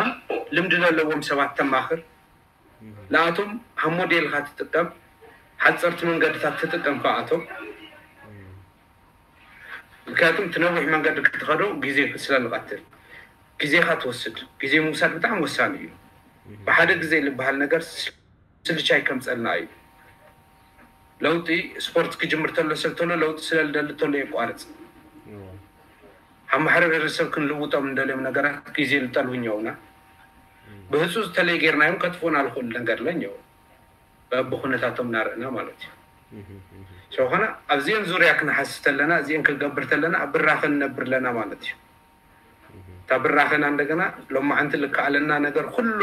ልምዲ ለለዎም ሰባት ተማኽር። ንኣቶም ሃብ ሞዴልካ ትጥቀም ሓፀርቲ መንገድታት ትጥቀም ከኣቶም ምክንያቱም እቲ ነዊሕ መንገዲ ክትኸዶ ግዜ ስለ ንቐትል ግዜኻ ትወስድ። ግዜ ምውሳድ ብጣዕሚ ወሳኒ እዩ። ብሓደ ግዜ ዝበሃል ነገር ስልቻይ ከምፀልና እዩ። ለውጢ ስፖርት ክጅምር ተሎ ሰብ ተሎ ለውጢ ስለ ልደሊ ተሎ የቋርፅ። ኣብ ማሕበረሰብ ክንልውጦም እንደልዮም ነገራት ግዜ ልጠልቡ እኛውና ብህፁ ዝተለይ ጌርናዮም ከጥፍኡና ልኽእሉ ነገር ለኛው በብኩነታቶም እናርእና ማለት እዩ። ስለኾነ ኣብዚአን ዙርያ ክንሓስብ ተለና እዚአን ክንገብር ተለና ኣብ ብራኸ ንነብር ኣለና ማለት እዩ። እታ ብራኸና እንደገና ሎማዓንቲ ልከኣለና ነገር ኩሉ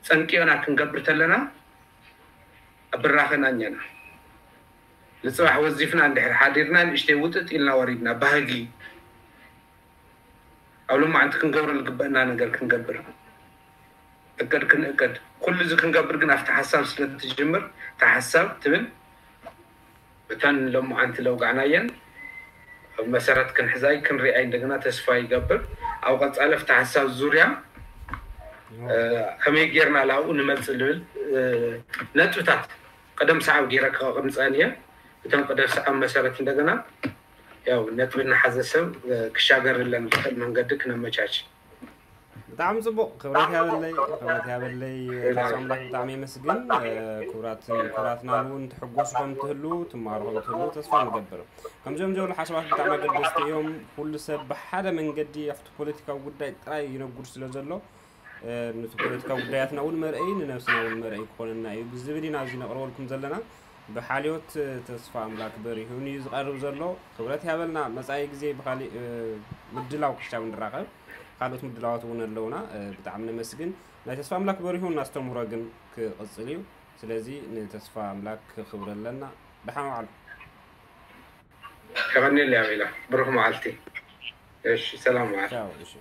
ፀንቂቕና ክንገብር ተለና ኣብ ብራኸና እኛና ንፅባሕ ወዚፍና እንድሕር ሓዲርና ንእሽተይ ውጥጥ ኢልና ወሪድና ባህጊ ኣብ ሎማዓንቲ ክንገብሮ ዝግበእና ነገር ክንገብር እቅድ ክንእቅድ ኩሉ እዚ ክንገብር ግን ኣብቲ ሓሳብ ስለትጅምር እታ ሓሳብ ትብል እተን ሎማዓንቲ ለውጋዕናየን መሰረት ክንሕዛይ ክንሪኣይ እንደገና ተስፋ ይገብር። ኣብ ቀጻሊ ኣብቲ ሓሳብ ዙርያ ከመይ ጌርና ላብኡ ንመጽእ ዝብል ነጥብታት ቅደም ሰዓብ ጌረ ከቕምጸን እየ። እቶም ቅደም ሰዓብ መሰረት እንደገና ያው ነጥቢ እናሓዘ ሰብ ክሻገርለን ዝኽእል መንገዲ ክነመቻች። ብጣዕሚ ፅቡቕ። ክብረት ያበለይ፣ ክብረት ያበለይ። ተስፋ ኣምላክ ብጣዕሚ የመስግን። ክቡራትን ክቡራትና እውን ትሕጎሱ ከም ትህሉ፣ ትማሩ ከም ትህሉ ተስፋ ንገብር። ከምዚኦም ዝበሉ ሓሳባት ብጣዕሚ ኣገደስቲ እዮም። ኩሉ ሰብ ብሓደ መንገዲ ኣብቲ ፖለቲካዊ ጉዳይ ጥራይ ይነጉድ ስለ ዘሎ፣ ነቲ ፖለቲካዊ ጉዳያትና እውን መርአይ፣ ንነብስና እውን መርአይ ክኾነና እዩ ብዝብል ኢና እዚ ነቕርበልኩም ዘለና። ብሓልዮት ተስፋ ኣምላክ በሪሁን እዩ ዝቐርብ ዘሎ። ክብረት ያበልና። መጻኢ ግዜ ብካሊእ ምድላው ክሻብ ንራኸብ። ካልኦት ምድላዋት እውን ኣለውና። ብጣዕሚ ነመስግን። ናይ ተስፋ ኣምላክ በሪሁን ኣስተምህሮ ግን ክቕጽል እዩ። ስለዚ ንተስፋ ኣምላክ ክኽብረለና። ደሓን ዋዕሉ። ከቐኒል ያው ኢላ ብሩክ መዓልቲ። እሺ፣ ሰላም መዓልቲ። ቻው። እሺ።